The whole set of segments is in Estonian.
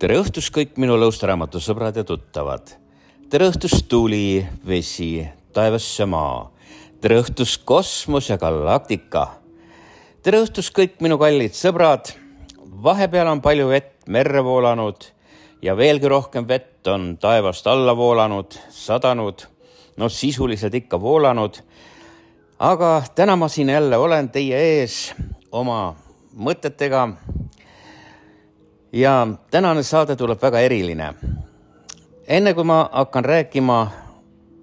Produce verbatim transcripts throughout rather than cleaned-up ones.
Tere õhtust kõik minu lõustaraamatu sõbrad ja tuttavad. Tere õhtust tuli, vesi, taevasse maa. Tere õhtust kosmos ja galaktika. Tere õhtust kõik minu kallid sõbrad. Vahepeal on palju vett merre voolanud ja veelgi rohkem vett on taevast alla voolanud, sadanud, no sisuliselt ikka voolanud. Aga täna ma siin jälle olen teie ees oma mõtetega. Ja tänane saade tuleb väga eriline. Enne kui ma hakkan rääkima,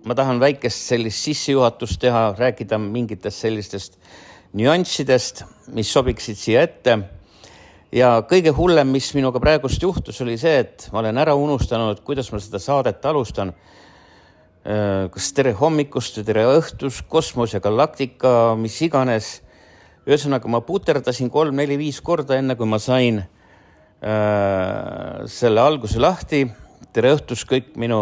ma tahan väikest sellist sissejuhatust teha, rääkida mingitest sellistest nüanssidest, mis sobiksid siia ette. Ja kõige hullem, mis minuga praegust juhtus, oli see, et ma olen ära unustanud, kuidas ma seda saadet alustan. Kas tere hommikust, tere õhtus, kosmos ja galaktika, mis iganes. Ühesõnaga ma puterdasin kolm, neli, viis korda enne, kui ma sain selle alguse lahti. Tere õhtus kõik minu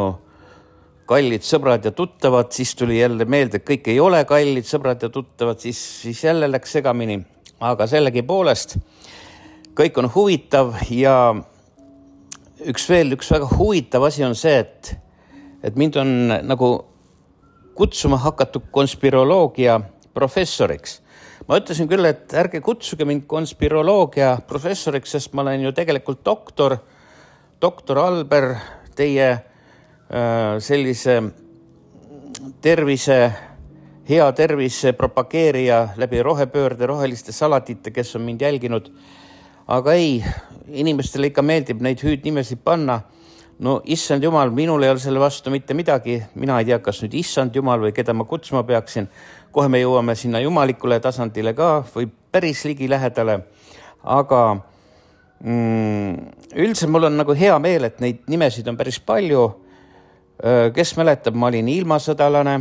kallid sõbrad ja tuttavad, siis tuli jälle meelde, et kõik ei ole kallid sõbrad ja tuttavad, siis, siis jälle läks segamini. Aga sellegi poolest kõik on huvitav ja üks veel, üks väga huvitav asi on see, et, et mind on nagu kutsuma hakatud konspiroloogia professoriks. Ma ütlesin küll, et ärge kutsuge mind konspiroloogia professoriks, sest ma olen ju tegelikult doktor, doktor Alber, teie äh, sellise tervise, hea tervise propageerija läbi rohepöörde, roheliste salatite, kes on mind jälginud. Aga ei, inimestele ikka meeldib neid hüüdnimesid panna. No issand jumal, minul ei ole selle vastu mitte midagi. Mina ei tea, kas nüüd issand jumal või keda ma kutsuma peaksin. Kohe me jõuame sinna jumalikule tasandile ka või päris ligi lähedale. Aga mm, üldse mul on nagu hea meel, et neid nimesid on päris palju. Kes mäletab, ma olin ilmasõdalane.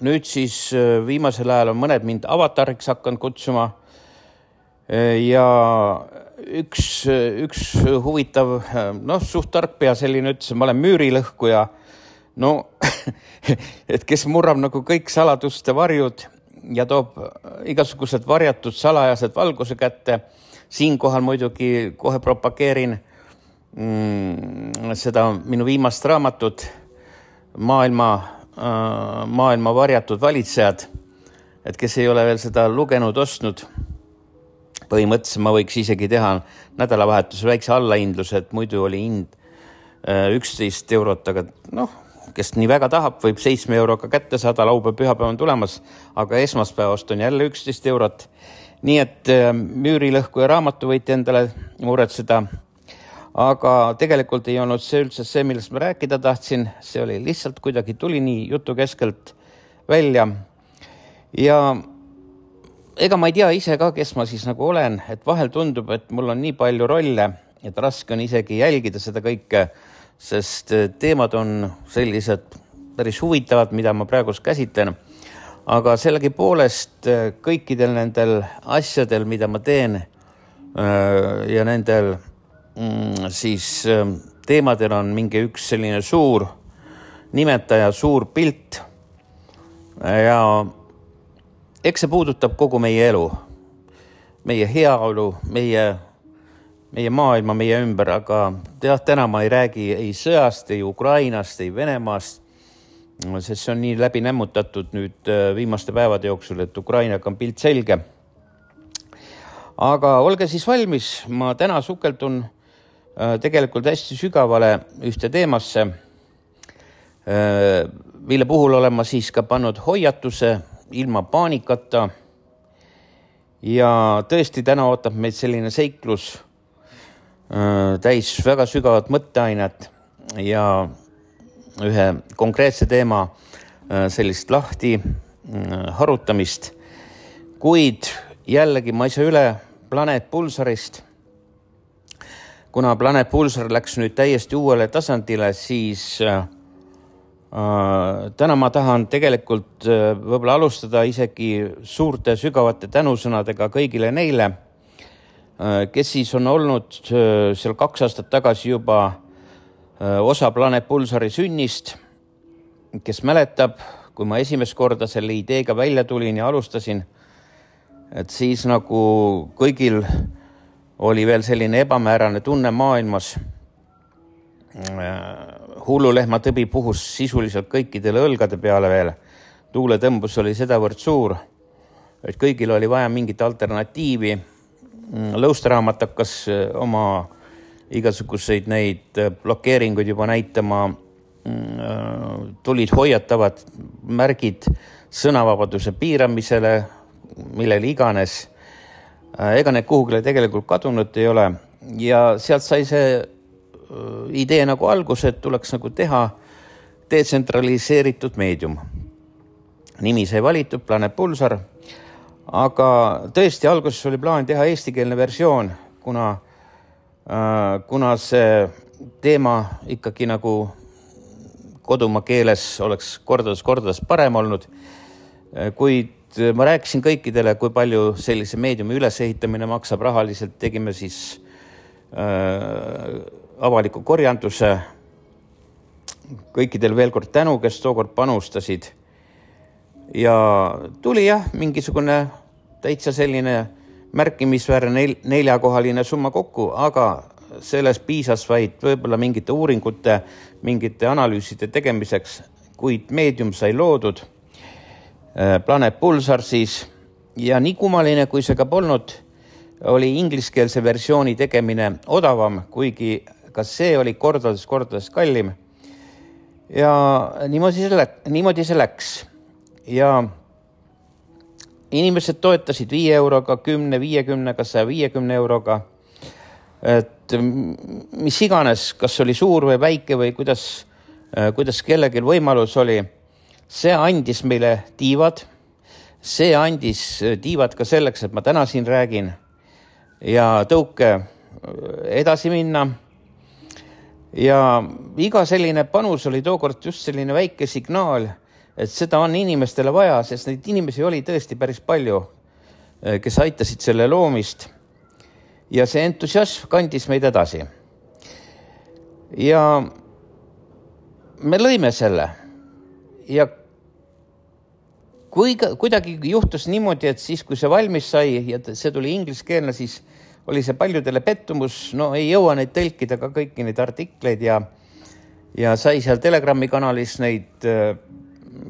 Nüüd siis viimasel ajal on mõned mind avatariks hakanud kutsuma. Ja üks, üks huvitav, noh, suht tarkpea selline ütles, ma olen müürilõhkuja. No, et kes murrab nagu kõik saladuste varjud ja toob igasugused varjatud salajased valguse kätte. Siinkohal muidugi kohe propageerin mm, seda minu viimast raamatut maailma, äh, maailma varjatud valitsejad. Et kes ei ole veel seda lugenud, ostnud, põhimõtteliselt ma võiks isegi teha nädalavahetuse väikse allahindluse, et muidu oli hind üksteist eurot, aga noh, kes nii väga tahab, võib seitsme euroga kätte saada, laupäev pühapäev on tulemas, aga esmaspäevast on jälle üksteist eurot. Nii et müürilõhku ja raamatu võite endale muretseda. Aga tegelikult ei olnud see üldse see, millest ma rääkida tahtsin. See oli lihtsalt kuidagi tuli nii jutu keskelt välja. Ja ega ma ei tea ise ka, kes ma siis nagu olen, et vahel tundub, et mul on nii palju rolle, et raske on isegi jälgida seda kõike, sest teemad on sellised päris huvitavad, mida ma praegu käsitlen. Aga sellegi poolest kõikidel nendel asjadel, mida ma teen ja nendel siis teemadel on mingi üks selline suur nimetaja, suur pilt ja eks see puudutab kogu meie elu, meie heaolu, meie, meie maailma, meie ümber, aga tead, täna ma ei räägi ei sõjast, ei Ukrainast, ei Venemaast, sest see on nii läbi nämmutatud nüüd viimaste päevade jooksul, et Ukrainaga on pilt selge. Aga olge siis valmis, ma täna sukeldun tegelikult hästi sügavale ühte teemasse, mille puhul olen ma siis ka pannud hoiatuse, ilma paanikata ja tõesti täna ootab meid selline seiklus täis väga sügavat mõtteainet ja ühe konkreetse teema sellist lahti harutamist, kuid jällegi ma ei saa üle Planet Pulsarist. Kuna Planet Pulsar läks nüüd täiesti uuele tasandile, siis täna ma tahan tegelikult võib-olla alustada isegi suurte sügavate tänusõnadega kõigile neile, kes siis on olnud seal kaks aastat tagasi juba osa Planet Pulsari sünnist, kes mäletab, kui ma esimest korda selle ideega välja tulin ja alustasin, et siis nagu kõigil oli veel selline ebamäärane tunne maailmas, Hullulehma tõbi puhus sisuliselt kõikidele õlgade peale veel. Tuuletõmbus oli sedavõrd suur, et kõigil oli vaja mingit alternatiivi. Lõusteraamat hakkas oma igasuguseid neid blokeeringuid juba näitama, tulid hoiatavad märgid sõnavabaduse piiramisele, millele iganes. Ega need kuhugile tegelikult kadunud ei ole ja sealt sai see idee nagu alguse, et tuleks nagu teha detsentraliseeritud meedium. Nimi sai valitud, Planet Pulsar, aga tõesti alguses oli plaan teha eestikeelne versioon, kuna, äh, kuna see teema ikkagi nagu kodumaa keeles oleks kordades kordades parem olnud, kuid ma rääkisin kõikidele, kui palju sellise meediumi ülesehitamine maksab rahaliselt, tegime siis äh, avaliku korjanduse, kõikidel veel kord tänu, kes tookord panustasid ja tuli jah, mingisugune täitsa selline märkimisväärne neljakohaline summa kokku, aga selles piisas vaid võib-olla mingite uuringute, mingite analüüside tegemiseks, kuid meedium sai loodud, Planet Pulsar siis ja nii kummaline, kui see ka polnud, oli ingliskeelse versiooni tegemine odavam, kuigi ka see oli kordades, kordades kallim. Ja niimoodi see, läks, niimoodi see läks. Ja inimesed toetasid viie euroga, kümne, viiekümnega, saja viiekümne euroga. Et mis iganes, kas oli suur või väike või kuidas, kuidas kellelgi võimalus oli, see andis meile tiivad. See andis tiivad ka selleks, et ma täna siin räägin ja tõuke edasi minna. Ja iga selline panus oli tookord just selline väike signaal, et seda on inimestele vaja, sest neid inimesi oli tõesti päris palju, kes aitasid selle loomist. Ja see entusiasm kandis meid edasi. Ja me lõime selle. Ja kui kuidagi juhtus niimoodi, et siis, kui see valmis sai ja see tuli ingliskeelne, siis oli see paljudele pettumus, no ei jõua neid tõlkida ka kõiki neid artikleid ja, ja sai seal Telegrami kanalis neid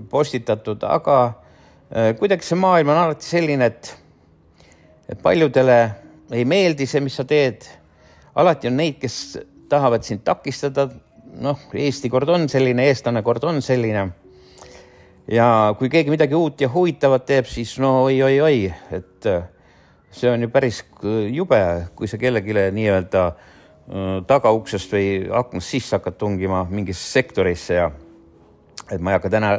postitatud, aga kuidagi see maailm on alati selline, et, et paljudele ei meeldi see, mis sa teed. Alati on neid, kes tahavad sind takistada, noh, Eesti kord on selline, eestlane kord on selline. Ja kui keegi midagi uut ja huvitavat teeb, siis no oi, oi, oi, et see on ju päris jube, kui sa kellegile nii-öelda tagauksest või aknast sisse hakkad tungima mingisse sektorisse ja et ma ei hakka täna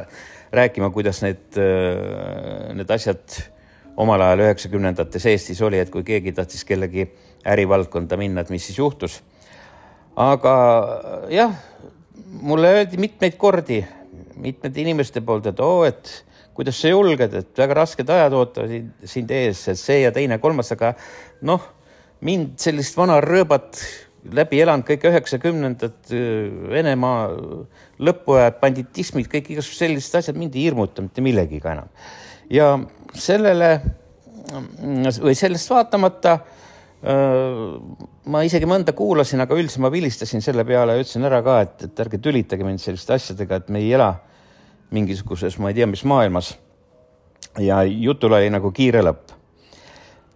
rääkima, kuidas need, need asjad omal ajal üheksakümnendates Eestis oli, et kui keegi tahtis kellegi ärivaldkonda minna, et mis siis juhtus. Aga jah, mulle öeldi mitmeid kordi, mitmed inimeste poolt, et oo, et kuidas sa julged, et väga rasked ajad ootavad sind ees, et see ja teine kolmas, aga noh, mind sellist vana rööbat läbi elanud kõik üheksakümnendad Venemaa lõpuajad, banditismid, kõik igasugused sellised asjad mind ei hirmuta mitte millegiga enam. Ja sellele või sellest vaatamata ma isegi mõnda kuulasin, aga üldse ma vilistasin selle peale ja ütlesin ära ka, et, et ärge tülitage mind selliste asjadega, et me ei ela mingisuguses, ma ei tea, mis maailmas. Ja jutul oli nagu kiire lõpp.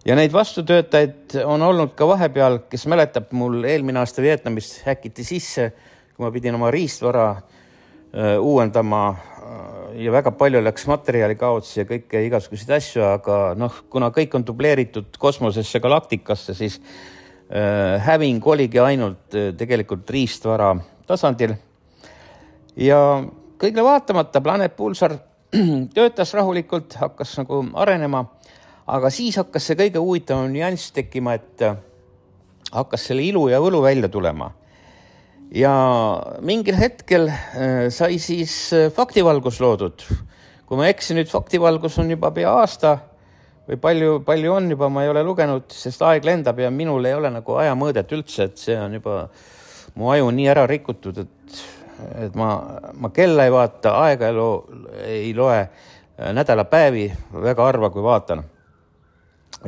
Ja neid vastutöötajaid on olnud ka vahepeal, kes mäletab mul eelmine aasta Vietnamist häkiti sisse, kui ma pidin oma riistvara uh, uuendama uh, ja väga palju läks materjali kaotsi ja kõike igasuguseid asju, aga noh, kuna kõik on dubleeritud kosmosesse, galaktikasse, siis uh, häving oligi ainult uh, tegelikult riistvara tasandil. Ja kõigile vaatamata Planet Pulsar töötas rahulikult, hakkas nagu arenema, aga siis hakkas see kõige huvitavam nüanss tekkima, et hakkas selle ilu ja võlu välja tulema. Ja mingil hetkel sai siis faktivalgus loodud. Kui ma eksin, nüüd faktivalgus on juba pea aasta või palju, palju on juba, ma ei ole lugenud, sest aeg lendab ja minul ei ole nagu aja mõõdet üldse, et see on juba mu aju nii ära rikutud, et et ma, ma kella ei vaata, aega ei, lo, ei loe nädalapäevi, väga harva kui vaatan.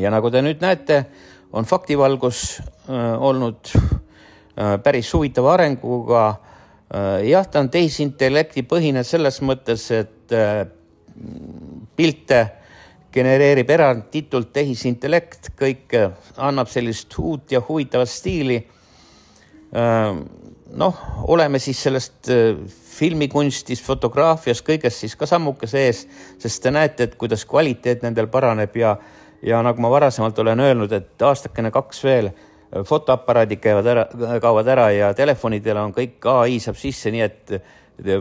Ja nagu te nüüd näete, on faktivalgus äh, olnud päris huvitava arenguga. Jah, ta on tehisintellekti põhine selles mõttes, et pilte genereerib eranditult tehisintellekt, kõik annab sellist uut ja huvitavat stiili. Noh, oleme siis sellest filmikunstis, fotograafias, kõigest siis ka sammuke sees, sest te näete, et kuidas kvaliteet nendel paraneb ja, ja nagu ma varasemalt olen öelnud, et aastakene kaks veel fotoaparaadid käivad ära, kaovad ära ja telefonidel on kõik A I saab sisse, nii et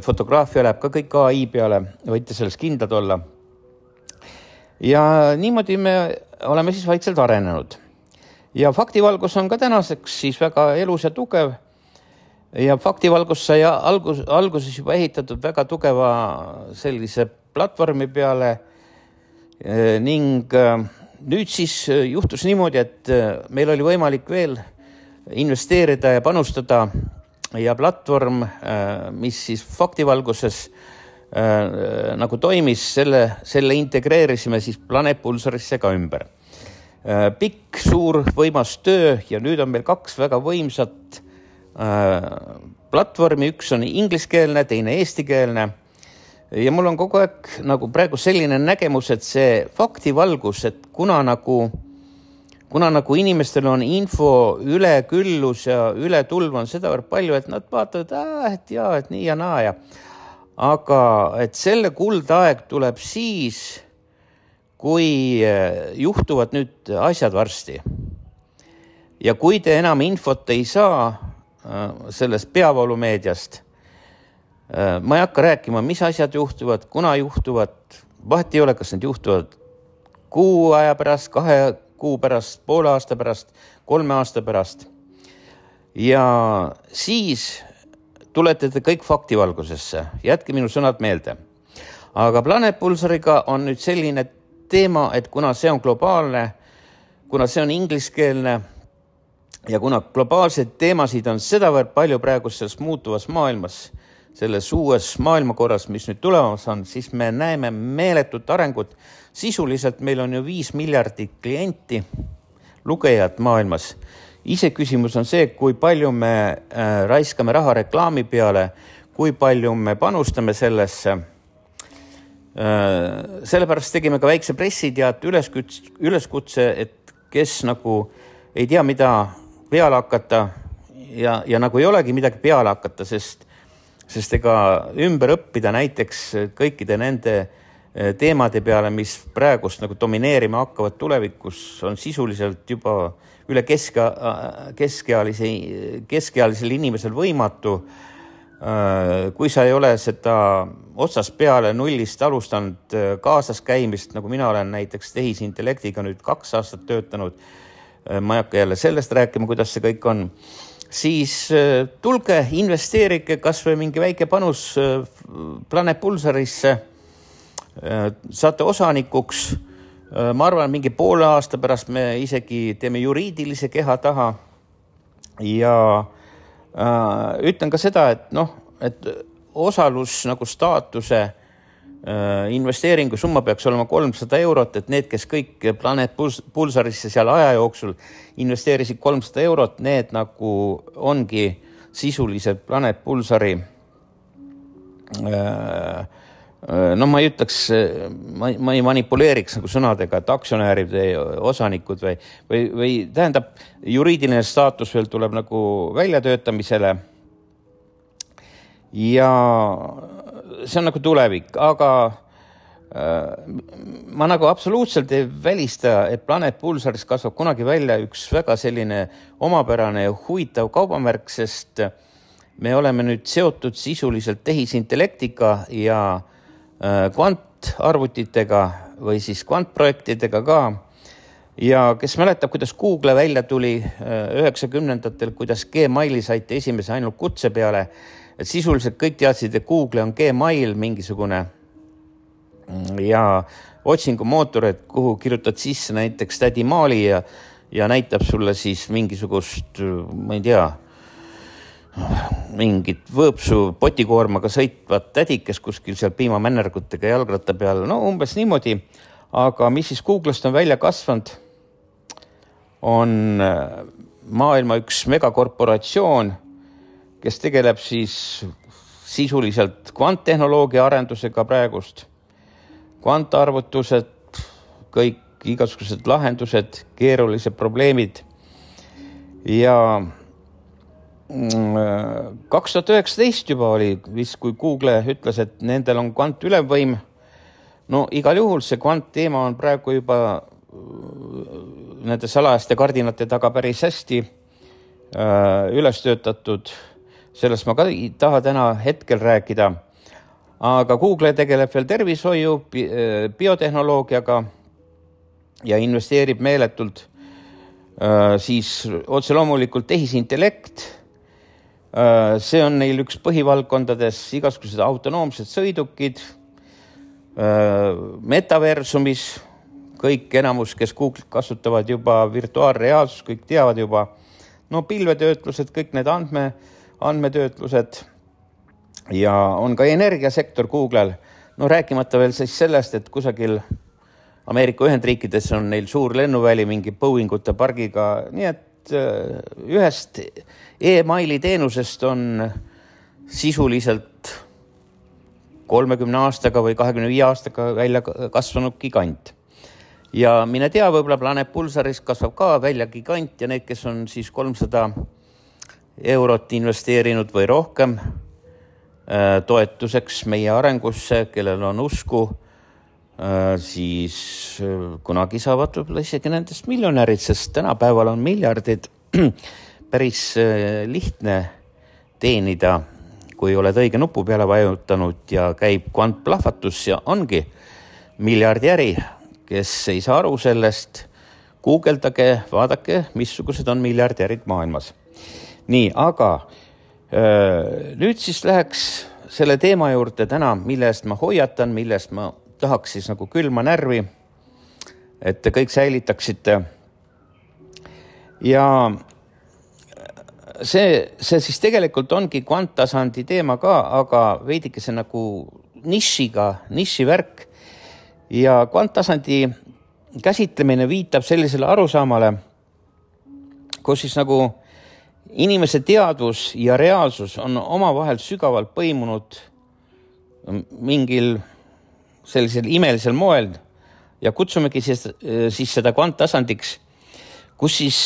fotograafia läheb ka kõik A I peale, võite sellest kindlad olla. Ja niimoodi me oleme siis vaikselt arenenud. Ja faktivalgus on ka tänaseks siis väga elus ja tugev. Ja faktivalgus sai algus, alguses juba ehitatud väga tugeva sellise platvormi peale ning nüüd siis juhtus niimoodi, et meil oli võimalik veel investeerida ja panustada ja platvorm, mis siis faktivalguses nagu toimis, selle, selle integreerisime siis Planet Pulsarisse ka ümber. Pikk, suur, võimas töö ja nüüd on meil kaks väga võimsat platvormi, üks on ingliskeelne, teine eestikeelne ja mul on kogu aeg nagu praegu selline nägemus, et see faktivalgus, et kuna nagu, kuna nagu inimestel on info üleküllus ja ületulv on seda võrd palju, et nad vaatavad, et jaa, et nii ja naa ja aga et selle kuldaeg tuleb siis, kui juhtuvad nüüd asjad varsti ja kui te enam infot ei saa sellest peavoolumeediast. Ma ei hakka rääkima, mis asjad juhtuvad, kuna juhtuvad, vahet ei ole, kas need juhtuvad kuu aja pärast, kahe kuu pärast, poole aasta pärast, kolme aasta pärast. Ja siis tulete te kõik faktivalgusesse, jätke minu sõnad meelde. Aga Planet Pulsariga on nüüd selline teema, et kuna see on globaalne, kuna see on ingliskeelne, ja kuna globaalseid teemasid on sedavõrd palju praegu selles muutuvas maailmas, selles uues maailmakorras, mis nüüd tulemas on, siis me näeme meeletut arengut. Sisuliselt meil on ju viis miljardit klienti, lugejad maailmas. Ise küsimus on see, kui palju me raiskame raha reklaami peale, kui palju me panustame sellesse. Sellepärast tegime ka väikse pressiteate üleskutse, et kes nagu ei tea, mida peale hakata ja, ja nagu ei olegi midagi peale hakata, sest, sest ega ümber õppida näiteks kõikide nende teemade peale, mis praegust nagu domineerima hakkavad tulevikus, on sisuliselt juba üle keske, keskealise, keskealisel inimesel võimatu. Kui sa ei ole seda otsast peale nullist alustanud kaasas käimist, nagu mina olen näiteks tehisintellektiga nüüd kaks aastat töötanud, ma ei hakka jälle sellest rääkima, kuidas see kõik on, siis tulge, investeerike kas või mingi väike panus Planet Pulsarisse, saate osanikuks. Ma arvan, mingi poole aasta pärast me isegi teeme juriidilise keha taha ja äh, ütlen ka seda, et noh, et osalus nagu staatuse investeeringu summa peaks olema kolmsada eurot, et need, kes kõik Planet Pulsarisse seal aja jooksul investeerisid kolmsada eurot, need nagu ongi sisuliselt Planet Pulsari no ma ei ütleks, ma, ma ei manipuleeriks nagu sõnadega, et aktsionäärid või osanikud või, või, või tähendab, juriidiline staatus veel tuleb nagu väljatöötamisele ja see on nagu tulevik, aga äh, ma nagu absoluutselt ei välista, et Planet Pulsaris kasvab kunagi välja üks väga selline omapärane ja huvitav kaubamärk, sest me oleme nüüd seotud sisuliselt tehisintellektiga ja äh, kvantarvutitega või siis kvantprojektidega ka. Ja kes mäletab, kuidas Google välja tuli üheksakümnendatel, kuidas Gmaili saite esimese ainult kutse peale, et sisuliselt kõik teadsid, et Google on Gmail mingisugune ja otsingumootor, et kuhu kirjutad sisse näiteks tädi Maali ja, ja näitab sulle siis mingisugust, ma ei tea, mingit võõpsu potikoormaga sõitvat tädikes kuskil seal piimamännergutega jalgratta peal, no umbes niimoodi, aga mis siis Googlest on välja kasvanud, on maailma üks megakorporatsioon, kes tegeleb siis sisuliselt kvanttehnoloogia arendusega praegust. Kvantarvutused, kõik igasugused lahendused, keerulised probleemid. Ja kaks tuhat üheksateist juba oli, vist kui Google ütles, et nendel on kvant ülemvõim. No igal juhul see kvant teema on praegu juba nende salajaste kardinate taga päris hästi üles töötatud. Sellest ma ka ei taha täna hetkel rääkida. Aga Google tegeleb veel tervishoiu, biotehnoloogiaga ja investeerib meeletult siis otse loomulikult tehisintellekt. See on neil üks põhivaldkondades igasugused autonoomsed sõidukid, metaversumis, kõik enamus, kes Google kasutavad juba virtuaalreaalsus, kõik teavad juba, no pilvetöötlused, kõik need andme, andmetöötlused ja on ka energiasektor Googlel. No rääkimata veel siis sellest, et kusagil Ameerika Ühendriikides on neil suur lennuväli mingi Boeingute pargiga, nii et ühest e-maili teenusest on sisuliselt kolmekümne aastaga või kahekümne viie aastaga välja kasvanud gigant. Ja mine tea, võibolla Planet Pulsaris kasvab ka välja gigant ja need, kes on siis kolmsada eurot investeerinud või rohkem toetuseks meie arengusse, kellel on usku, siis kunagi saavad võib-olla isegi nendest miljonärid, sest tänapäeval on miljardid päris lihtne teenida, kui oled õige nupu peale vajutanud ja käib kvantplahvatus ja ongi miljardi äri, kes ei saa aru sellest, guugeldage, vaadake, missugused on miljardärid maailmas. Nii, aga öö, nüüd siis läheks selle teema juurde täna, millest ma hoiatan, millest ma tahaks siis nagu külma närvi, et te kõik säilitaksite. Ja see, see siis tegelikult ongi kvanttasandi teema ka, aga veidike see nagu nišiga, nišivärk. Ja kvanttasandi käsitlemine viitab sellisele arusaamale, kus siis nagu inimese teadvus ja reaalsus on omavahel sügavalt põimunud mingil sellisel imelisel moel ja kutsumegi siis, siis seda kvanttasandiks, kus siis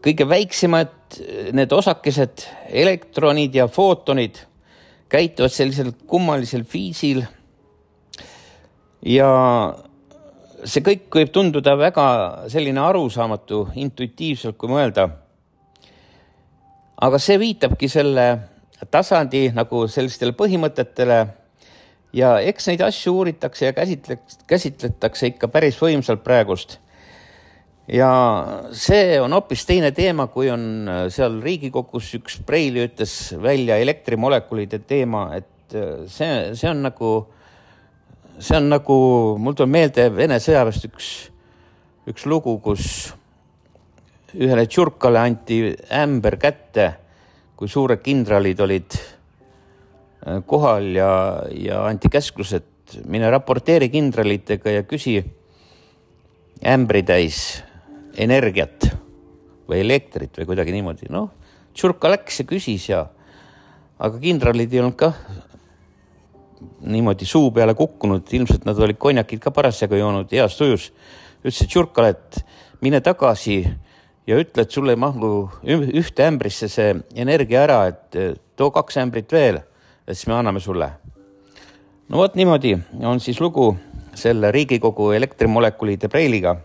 kõige väiksemad need osakesed, elektronid ja footonid käituvad sellisel kummalisel viisil ja see kõik võib tunduda väga selline arusaamatu, intuitiivselt kui mõelda. Aga see viitabki selle tasandi nagu sellistele põhimõtetele ja eks neid asju uuritakse ja käsitletakse ikka päris võimsalt praegust. Ja see on hoopis teine teema, kui on seal Riigikogus üks Preili ütles välja elektrimolekulide teema, et see, see on nagu, see on nagu, mul tuleb meelde Vene sõjaväest üks, üks lugu, kus ühele tšurkale anti ämber kätte, kui suured kindralid olid kohal ja, ja anti käsklus, et mine raporteeri kindralitega ja küsi ämbri täis energiat või elektrit või kuidagi niimoodi. No, tšurka läks ja küsis ja, aga kindralid ei olnud ka niimoodi suu peale kukkunud, ilmselt nad olid konjakid ka parasjaga joonud heas tujus. Ütlesid tšurkale, et mine tagasi ja ütle, et sulle ei mahlu ühte ämbrisse see energia ära, et too kaks ämbrit veel, et siis me anname sulle. No vot niimoodi on siis lugu selle Riigikogu elektrimolekulide Preiliga,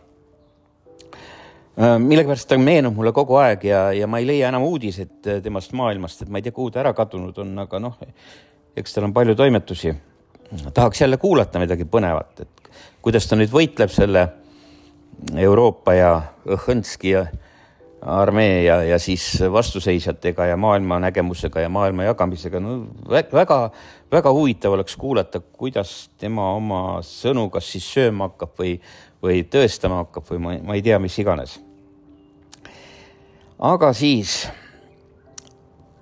millegipärast ta meenub mulle kogu aeg ja, ja ma ei leia enam uudised temast maailmast, et ma ei tea, kuhu ta ära kadunud on, aga noh, eks tal on palju toimetusi. Tahaks jälle kuulata midagi põnevat, et kuidas ta nüüd võitleb selle Euroopa ja Õhõnski ja armee ja, ja siis vastuseisjatega ja maailma nägemusega ja maailma jagamisega. No, väga, väga huvitav oleks kuulata, kuidas tema oma sõnu kas siis sööma hakkab või, või tõestama hakkab või ma, ma ei tea, mis iganes. Aga siis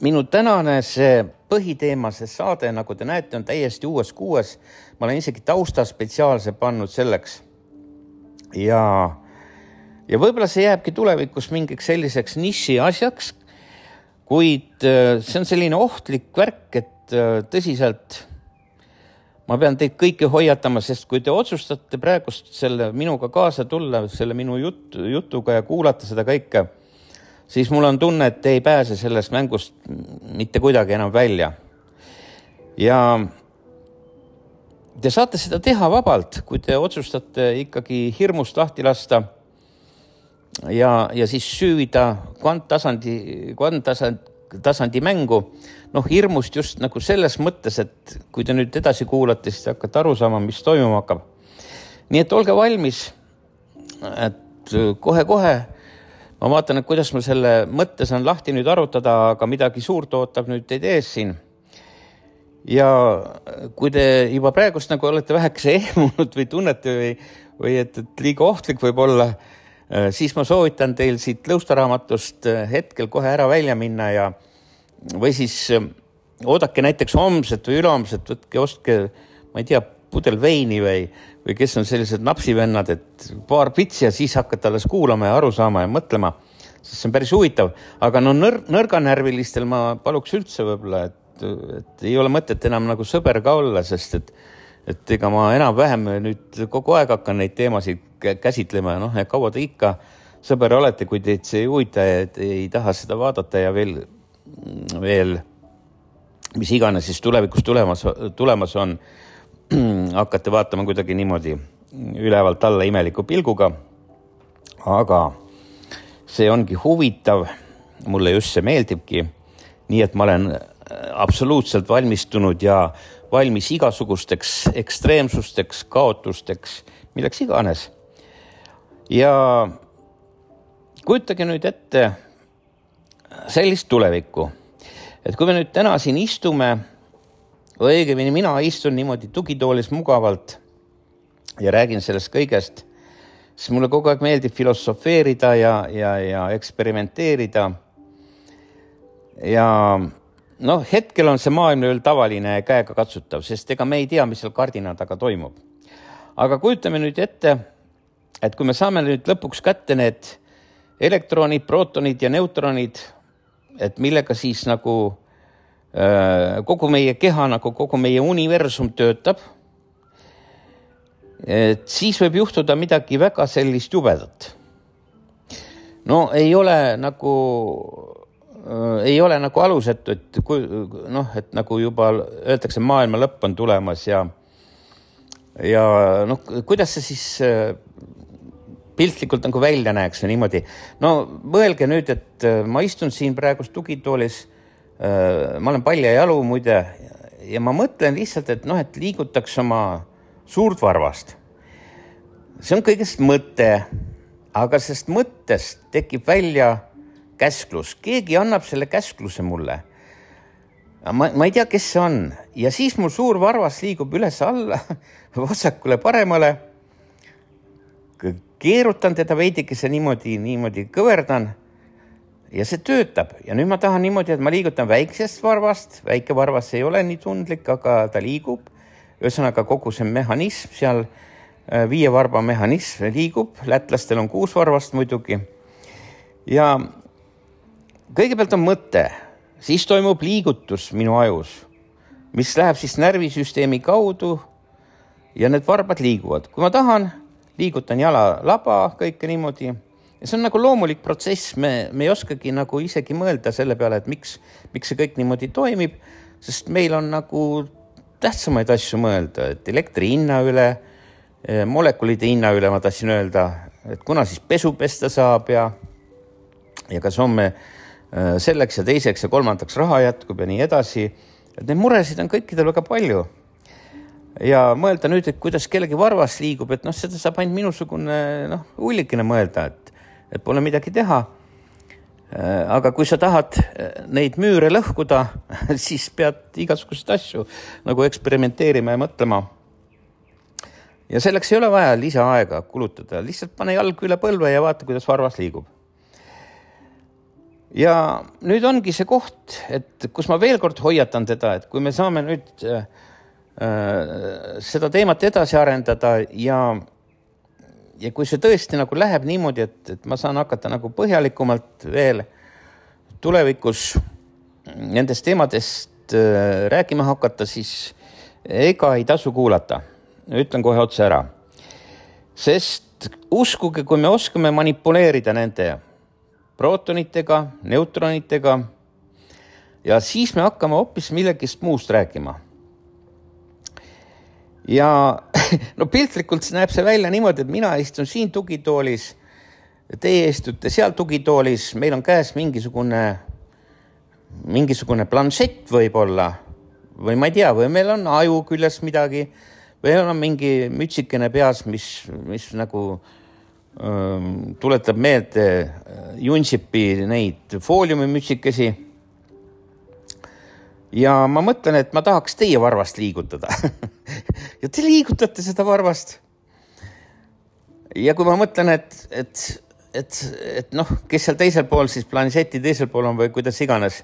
minu tänane see põhiteema, see saade, nagu te näete, on täiesti uues kuues. Ma olen isegi tausta spetsiaalse pannud selleks. Ja, ja võib-olla see jääbki tulevikus mingiks selliseks niši asjaks, kuid see on selline ohtlik värk, et tõsiselt ma pean teid kõiki hoiatama, sest kui te otsustate praegust selle minuga kaasa tulla, selle minu jut, jutuga ja kuulata seda kõike, siis mul on tunne, et te ei pääse sellest mängust mitte kuidagi enam välja. Ja te saate seda teha vabalt, kui te otsustate ikkagi hirmust lahti lasta ja, ja siis süüvida kvanttasandi, kvanttasandi, tasandi mängu. Noh, hirmust just nagu selles mõttes, et kui te nüüd edasi kuulate, siis hakkate aru saama, mis toimuma hakkab. Nii et olge valmis, et kohe-kohe ma vaatan, et kuidas ma selle mõtte saan lahti nüüd arutada, aga midagi suurt ootab nüüd teid ees siin. Ja kui te juba praegust nagu olete vähekese ehmunud või tunnete või, või et, et liiga ohtlik võib olla, siis ma soovitan teil siit lõustaraamatust hetkel kohe ära välja minna ja või siis oodake näiteks homset või ülehomset, võtke, ostke, ma ei tea, pudel veini või, või kes on sellised napsivennad, et paar pitsi ja siis hakkate alles kuulama ja aru saama ja mõtlema, sest see on päris huvitav. Aga no nõr, nõrganärvilistel ma paluks üldse võib-olla, et, et ei ole mõtet enam nagu sõber ka olla, sest et et ega ma enam-vähem nüüd kogu aeg hakkan neid teemasid käsitlema ja noh, ja kaua te ikka sõber olete, kui teid see ei huvita ja ei taha seda vaadata ja veel, veel mis iganes siis tulevikus tulemas, tulemas on, hakkate vaatama kuidagi niimoodi ülevalt alla imeliku pilguga, aga see ongi huvitav, mulle just see meeldibki, nii et ma olen absoluutselt valmistunud ja valmis igasugusteks ekstreemsusteks, kaotusteks, milleks iganes. Ja kujutage nüüd ette sellist tulevikku, et kui me nüüd täna siin istume, või õigemini mina istun niimoodi tugitoolis mugavalt ja räägin sellest kõigest, siis mulle kogu aeg meeldib filosofeerida ja, ja, ja eksperimenteerida. Ja noh, hetkel on see maailm veel tavaline ja käega katsutav, sest ega me ei tea, mis seal kardina taga toimub. Aga kujutame nüüd ette, et kui me saame nüüd lõpuks kätte need elektronid, protonid ja neutronid, et millega siis nagu äh, kogu meie keha, nagu kogu meie universum töötab, et siis võib juhtuda midagi väga sellist jubedat. No ei ole nagu... ei ole nagu alusetu, et, kui, noh, et nagu juba öeldakse, maailma lõpp on tulemas ja, ja noh, kuidas see siis piltlikult nagu välja näeks või niimoodi. No mõelge nüüd, et ma istun siin praegust tugitoolis, ma olen palja jalu muide ja ma mõtlen lihtsalt, et noh, et liigutaks oma suurt varvast. See on kõigest mõte, aga sest mõttest tekib välja käsklus. Keegi annab selle käskluse mulle. Ma, ma ei tea, kes see on. Ja siis mul suur varvas liigub üles alla, vasakule paremale. Keerutan teda veidikese niimoodi, niimoodi kõverdan ja see töötab. Ja nüüd ma tahan niimoodi, et ma liigutan väiksest varvast. Väike varvas ei ole nii tundlik, aga ta liigub. Ühesõnaga kogu see mehhanism seal, viie varba mehhanism liigub. Lätlastel on kuus varvast muidugi. Ja kõigepealt on mõte, siis toimub liigutus minu ajus, mis läheb siis närvisüsteemi kaudu ja need varbad liiguvad. Kui ma tahan, liigutan jala laba, kõike niimoodi. Ja see on nagu loomulik protsess, me, me ei oskagi nagu isegi mõelda selle peale, et miks, miks see kõik niimoodi toimib, sest meil on nagu tähtsamaid asju mõelda, et elektri hinna üle, molekulide hinna üle ma tahtsin öelda, et kuna siis pesu pesta saab ja, ja kas on me selleks ja teiseks ja kolmandaks raha jätkub ja nii edasi. Et need muresid on kõikidel väga palju. Ja mõelda nüüd, et kuidas kellegi varvas liigub, et noh, seda saab ainult minusugune noh, ullikene mõelda, et, et pole midagi teha. Aga kui sa tahad neid müüre lõhkuda, siis pead igasuguseid asju nagu eksperimenteerima ja mõtlema. Ja selleks ei ole vaja lisaaega kulutada. Lihtsalt pane jalg üle põlve ja vaata, kuidas varvas liigub. Ja nüüd ongi see koht, et kus ma veel kord hoiatan teda, et kui me saame nüüd äh, seda teemat edasi arendada ja, ja kui see tõesti nagu läheb niimoodi, et, et ma saan hakata nagu põhjalikumalt veel tulevikus nendest teemadest rääkima hakata, siis ega ei tasu kuulata. Ütlen kohe otse ära. Sest uskuge, kui me oskame manipuleerida nende prootonitega, neutronitega ja siis me hakkame hoopis millegist muust rääkima. Ja no piltlikult näeb see välja niimoodi, et mina istun siin tugitoolis, teie istute seal tugitoolis, meil on käes mingisugune, mingisugune planšett võib-olla, või ma ei tea, või meil on aju küljes midagi, või on mingi mütsikene peas, mis, mis nagu öö, tuletab meelde Junsipi neid fooliumi mütsikesi. Ja ma mõtlen, et ma tahaks teie varvast liigutada. Ja te liigutate seda varvast. Ja kui ma mõtlen, et, et, et, et noh, kes seal teisel pool, siis planšeti teisel pool on või kuidas iganes.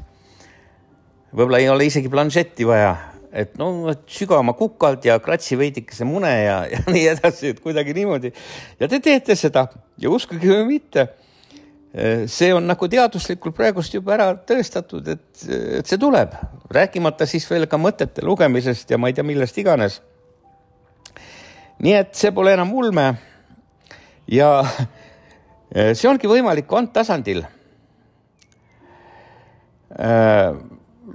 Võib-olla ei ole isegi planšetti vaja. Et no, et süga oma kukalt ja kratsi veidikese mune ja, ja nii edasi, et kuidagi niimoodi. Ja te teete seda ja uskuge või mitte. See on nagu teaduslikult praegust juba ära tõestatud, et, et see tuleb. Rääkimata siis veel ka mõtete lugemisest ja ma ei tea millest iganes. Nii et see pole enam ulme. Ja see ongi võimalik kvanttasandil.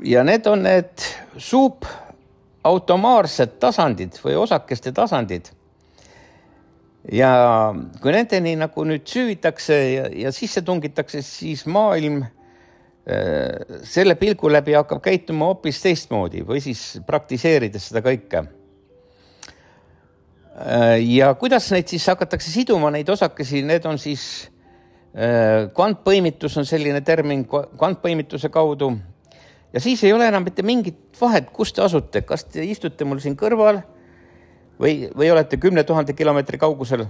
Ja need on need suupautomaarsed tasandid või osakeste tasandid. Ja kui nendeni nagu nüüd süüvitakse ja, ja sisse tungitakse, siis maailm äh, selle pilgu läbi hakkab käituma hoopis teistmoodi või siis praktiseerides seda kõike. Äh, ja kuidas neid siis hakatakse siduma, neid osakesi, need on siis äh, kvantpõimitus on selline termin kvantpõimituse kaudu. Ja siis ei ole enam mitte mingit vahet, kus te asute, kas te istute mul siin kõrval Või, või olete kümne tuhande kilomeetri kaugusel.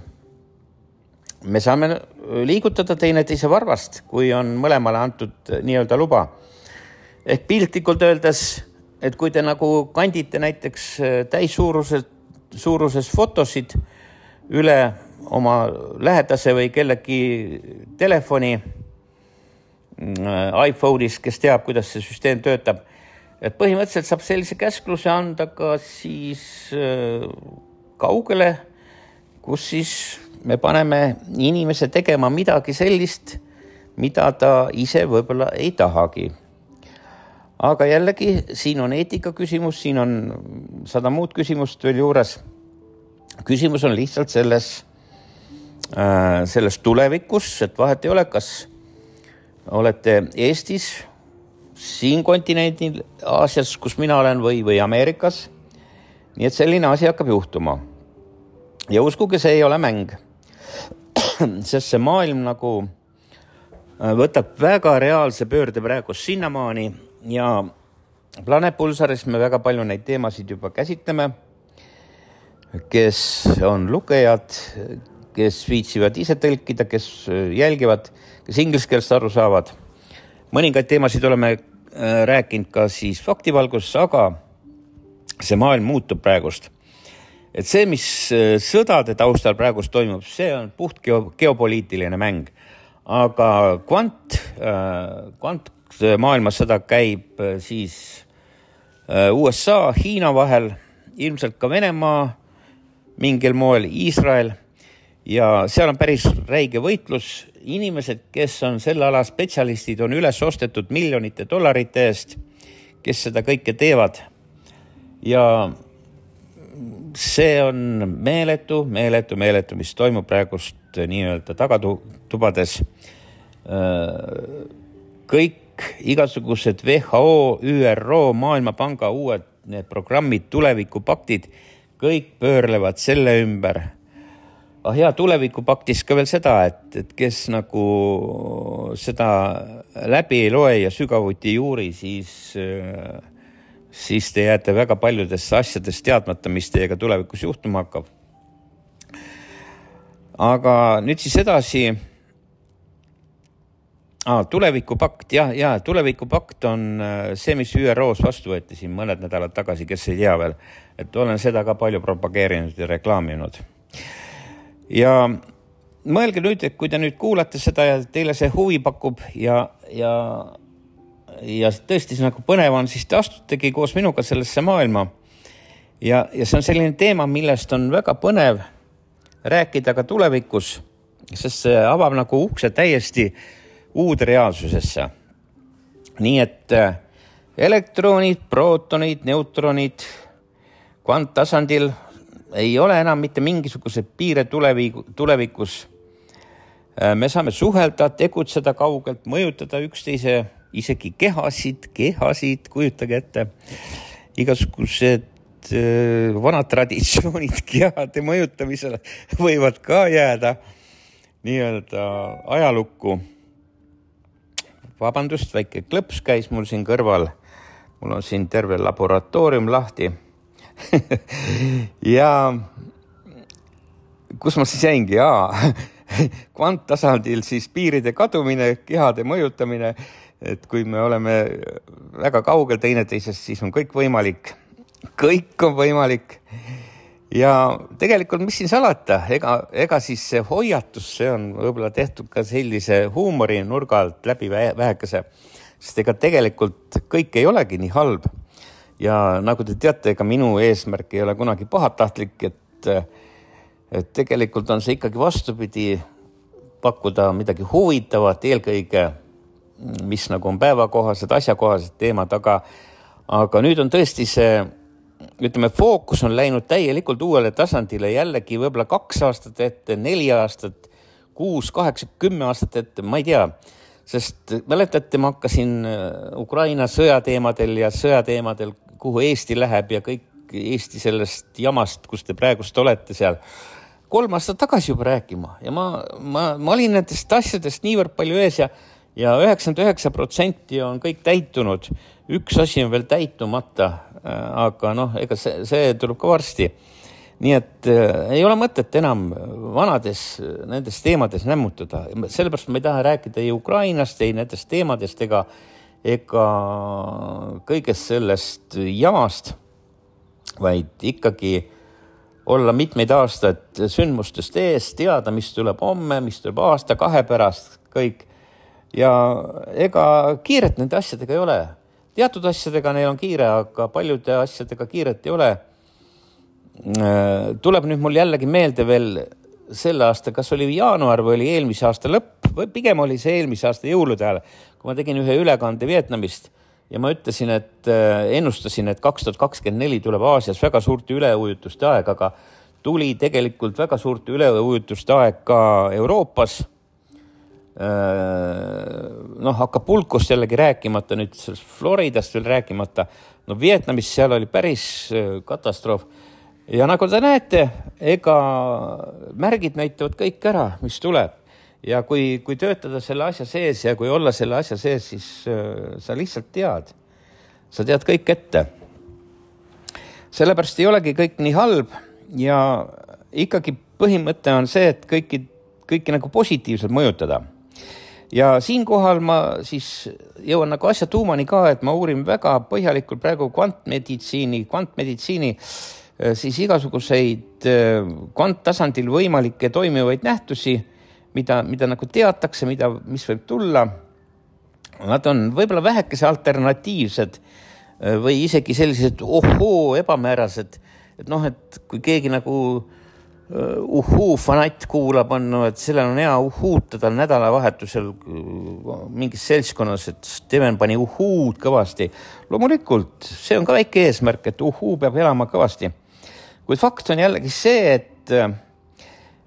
Me saame liigutada teine teise varvast, kui on mõlemale antud nii-öelda luba. Ehk piltlikult öeldes, et kui te nagu kandite näiteks täissuuruses suuruses fotosid üle oma lähedase või kellegi telefoni iPhone'is, kes teab, kuidas see süsteem töötab, et põhimõtteliselt saab sellise käskluse anda ka siis kaugele, kus siis me paneme inimese tegema midagi sellist, mida ta ise võib-olla ei tahagi. Aga jällegi, siin on eetika küsimus, siin on sada muud küsimust veel juures. Küsimus on lihtsalt selles, selles tulevikus, et vahet ei ole, kas olete Eestis, siin kontinendil, Aasias, kus mina olen, või, või Ameerikas. Nii et selline asi hakkab juhtuma. Ja uskuge, see ei ole mäng. Sest see maailm nagu võtab väga reaalse pöörde praegu sinnamaani ja Planet Pulsaris me väga palju neid teemasid juba käsitleme, kes on lugejad, kes viitsivad ise tõlkida, kes jälgivad, kes ingliskeelest aru saavad. Mõningaid teemasid oleme rääkinud ka siis faktivalguses, aga see maailm muutub praegust. Et see, mis sõdade taustal praegust toimub, see on puht geopoliitiline mäng. Aga kvant, kvant maailmas sõda käib siis U S A, Hiina vahel, ilmselt ka Venemaa, mingil moel Iisrael. Ja seal on päris räige võitlus. Inimesed, kes on selle ala spetsialistid, on üles ostetud miljonite dollarite eest, kes seda kõike teevad. Ja see on meeletu, meeletu, meeletu, mis toimub praegust nii-öelda tagatubades. Kõik igasugused W H O, Ü R O, Maailmapanga uued need programmid, tulevikupaktid, kõik pöörlevad selle ümber. Ah ja, tulevikupaktis ka veel seda, et, et kes nagu seda läbi ei loe ja sügavuti juuri, siis, siis te jääte väga paljudest asjadest teadmata, mis teiega tulevikus juhtuma hakkab. Aga nüüd siis edasi. Ah, tulevikupakt, jah, ja, tulevikupakt on see, mis Ü R O-s vastu võeti siin mõned nädalad tagasi, kes ei tea veel, et olen seda ka palju propageerinud ja reklaaminud. Ja mõelge nüüd, et kui te nüüd kuulate seda ja teile see huvi pakub ja, ja, ja tõesti see nagu põnev on, siis te astutegi koos minuga sellesse maailma. Ja, ja see on selline teema, millest on väga põnev rääkida ka tulevikus, sest see avab nagu ukse täiesti uude reaalsusesse. Nii et elektronid, prootonid, neutronid kvanttasandil ei ole enam mitte mingisuguse piire tulevikus. Me saame suhelda, tegutseda kaugelt, mõjutada üksteise, isegi kehasid, kehasid, kujutage ette. Igasugused vanad traditsioonid kehade mõjutamisele võivad ka jääda nii-öelda ajalukku. Vabandust, väike klõps käis mul siin kõrval. Mul on siin terve laboratoorium lahti. Ja kus ma siis jäingi? Jaa, kvanttasandil siis piiride kadumine, kehade mõjutamine, et kui me oleme väga kaugel teineteisest, siis on kõik võimalik. Kõik on võimalik. Ja tegelikult, mis siin salata, ega, ega siis see hoiatus, see on võib-olla tehtud ka sellise huumori nurga alt läbi vähekese, sest ega tegelikult kõik ei olegi nii halb. Ja nagu te teate, ega minu eesmärk ei ole kunagi pahatahtlik, et, et tegelikult on see ikkagi vastupidi pakkuda midagi huvitavat, eelkõige, mis nagu on päevakohased, asjakohased teemad, aga, aga nüüd on tõesti see, ütleme, fookus on läinud täielikult uuele tasandile jällegi võibolla kaks aastat ette, neli aastat, kuus, kaheksa, kümme aastat ette, ma ei tea, sest mäletate, ma hakkasin Ukraina sõjateemadel ja sõjateemadel, kuhu Eesti läheb ja kõik Eesti sellest jamast, kus te praegust olete seal, kolm aastat tagasi juba rääkima ja ma, ma, ma olin nendest asjadest niivõrd palju ees ja, ja üheksakümmend üheksa protsenti on kõik täitunud, üks asi on veel täitumata, aga noh, ega see, see tuleb ka varsti. Nii et äh, ei ole mõtet enam vanades nendes teemades nämmutada. Sellepärast ma ei taha rääkida ei Ukrainast, ei nendest teemadest ega, ega kõigest sellest jamast, vaid ikkagi olla mitmeid aastaid sündmustest ees, teada, mis tuleb homme, mis tuleb aasta, kahe pärast, kõik. Ja ega kiiret nende asjadega ei ole. Teatud asjadega neil on kiire, aga paljude asjadega kiiret ei ole. Tuleb nüüd mul jällegi meelde veel selle aasta, kas oli jaanuar või oli eelmise aasta lõpp, või pigem oli see eelmise aasta jõulude ajal, kui ma tegin ühe ülekande Vietnamist ja ma ütlesin, et ennustasin, et kaks tuhat kakskümmend neli tuleb Aasias väga suurte üleujutuste aeg, aga tuli tegelikult väga suurte üleujutuste aeg ka Euroopas. Noh, Acapulcost jällegi rääkimata, nüüd Floridast veel rääkimata. No Vietnamis seal oli päris katastroof. Ja nagu te näete, ega märgid näitavad kõik ära, mis tuleb. Ja kui, kui töötada selle asja sees ja kui olla selle asja sees, siis äh, sa lihtsalt tead. Sa tead kõik ette. Sellepärast ei olegi kõik nii halb ja ikkagi põhimõte on see, et kõiki, kõiki nagu positiivselt mõjutada. Ja siinkohal ma siis jõuan nagu asja tuumani ka, et ma uurin väga põhjalikult praegu kvantmeditsiini, kvantmeditsiini siis igasuguseid kvanttasandil võimalikke toimivaid nähtusi, mida, mida nagu teatakse, mida, mis võib tulla. Nad on võib-olla vähekese alternatiivsed või isegi sellised ohoo ebamäärased, et noh, et kui keegi nagu uhuu fanatt kuulab, on, no, et sellel on hea uhuutada nädalavahetusel mingis seltskonnas, et Steven pani uhuud kõvasti. Loomulikult, see on ka väike eesmärk, et uhuu peab elama kõvasti. Kuid fakt on jällegi see, et,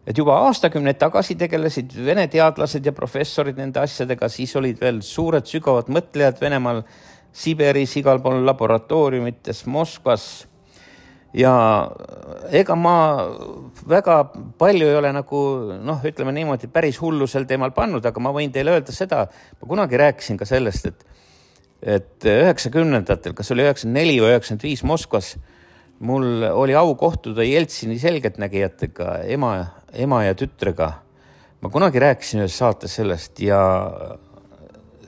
et juba aastakümneid tagasi tegelesid vene teadlased ja professorid nende asjadega, siis olid veel suured sügavad mõtlejad Venemaal, Siberis, igal pool laboratooriumites, Moskvas. Ja ega ma väga palju ei ole nagu, noh, ütleme niimoodi päris hullu sel teemal pannud, aga ma võin teile öelda seda, ma kunagi rääkisin ka sellest, et, et üheksakümnendatel, kas oli üheksakümmend neli või üheksakümmend viis Moskvas, mul oli au kohtuda Jeltsini selgeltnägijatega, ema, ema ja tütrega. Ma kunagi rääkisin ühes saates sellest ja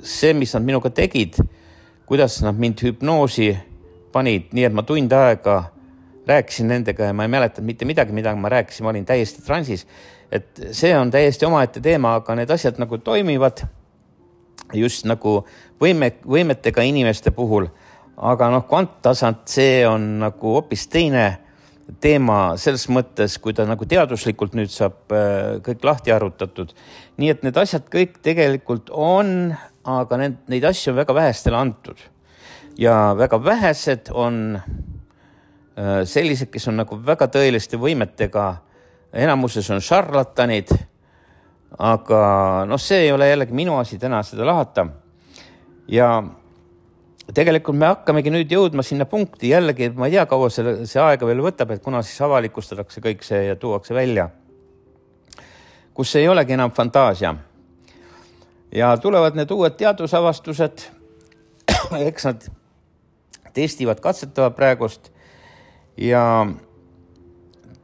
see, mis nad minuga tegid, kuidas nad mind hüpnoosi panid, nii et ma tund aega rääkisin nendega ja ma ei mäletanud mitte midagi, mida ma rääkisin, ma olin täiesti transis. et see on täiesti omaette teema, aga need asjad nagu toimivad just nagu võime, võimetega inimeste puhul. Aga noh, kvanttasand, see on nagu hoopis teine teema selles mõttes, kui ta nagu teaduslikult nüüd saab kõik lahti arutatud. Nii et need asjad kõik tegelikult on, aga need, neid asju on väga vähestele antud. Ja väga vähesed on sellised, kes on nagu väga tõeliste võimetega. Enamuses on šarlatanid, aga noh, see ei ole jällegi minu asi täna seda lahata. Ja tegelikult me hakkamegi nüüd jõudma sinna punkti jällegi, ma ei tea, kaua see, see aega veel võtab, et kuna siis avalikustatakse kõik see ja tuuakse välja, kus ei olegi enam fantaasia. Ja tulevad need uued teadusavastused, eks nad testivad, katsetavad praegust ja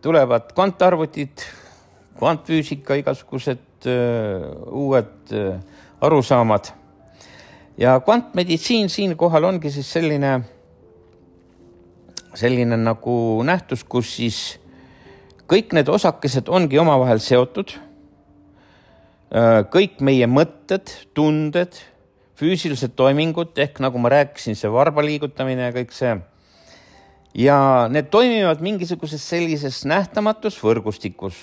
tulevad kvantarvutid, kvantfüüsika, igasugused uh, uued uh, arusaamad. Ja kvantmeditsiin siin kohal ongi siis selline, selline nagu nähtus, kus siis kõik need osakesed ongi omavahel seotud. Kõik meie mõtted, tunded, füüsilised toimingud, ehk nagu ma rääkisin, see varba liigutamine ja kõik see. Ja need toimivad mingisuguses sellises nähtamatus võrgustikus.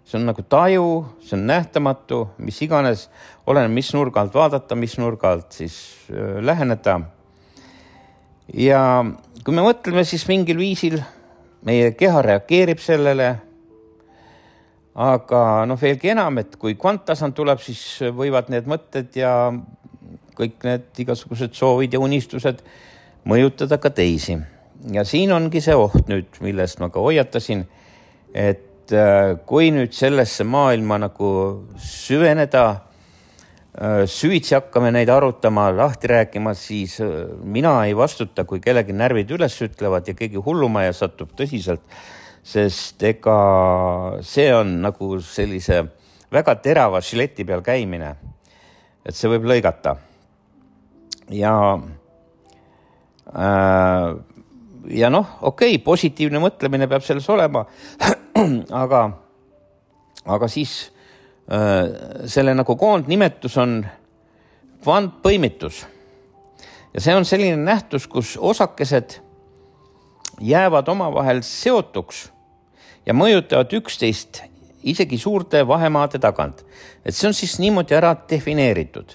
See on nagu taju, see on nähtamatu, mis iganes, oleneb mis nurga alt vaadata, mis nurga alt siis äh, läheneda. Ja kui me mõtleme, siis mingil viisil meie keha reageerib sellele, aga noh, veelgi enam, et kui kvanttasand tuleb, siis võivad need mõtted ja kõik need igasugused soovid ja unistused mõjutada ka teisi. Ja siin ongi see oht nüüd, millest ma ka hoiatasin, et kui nüüd sellesse maailma nagu süveneda, süvitsi hakkame neid arutama, lahti rääkima, siis mina ei vastuta, kui kellegi närvid üles ütlevad ja keegi hullumaja satub tõsiselt, sest ega see on nagu sellise väga terava žileti peal käimine, et see võib lõigata. Ja äh, ja noh, okei, okay, positiivne mõtlemine peab selles olema, aga, aga siis äh, selle nagu koondnimetus on kvantpõimitus. Ja see on selline nähtus, kus osakesed jäävad omavahel seotuks ja mõjutavad üksteist isegi suurte vahemaade tagant. Et see on siis niimoodi ära defineeritud.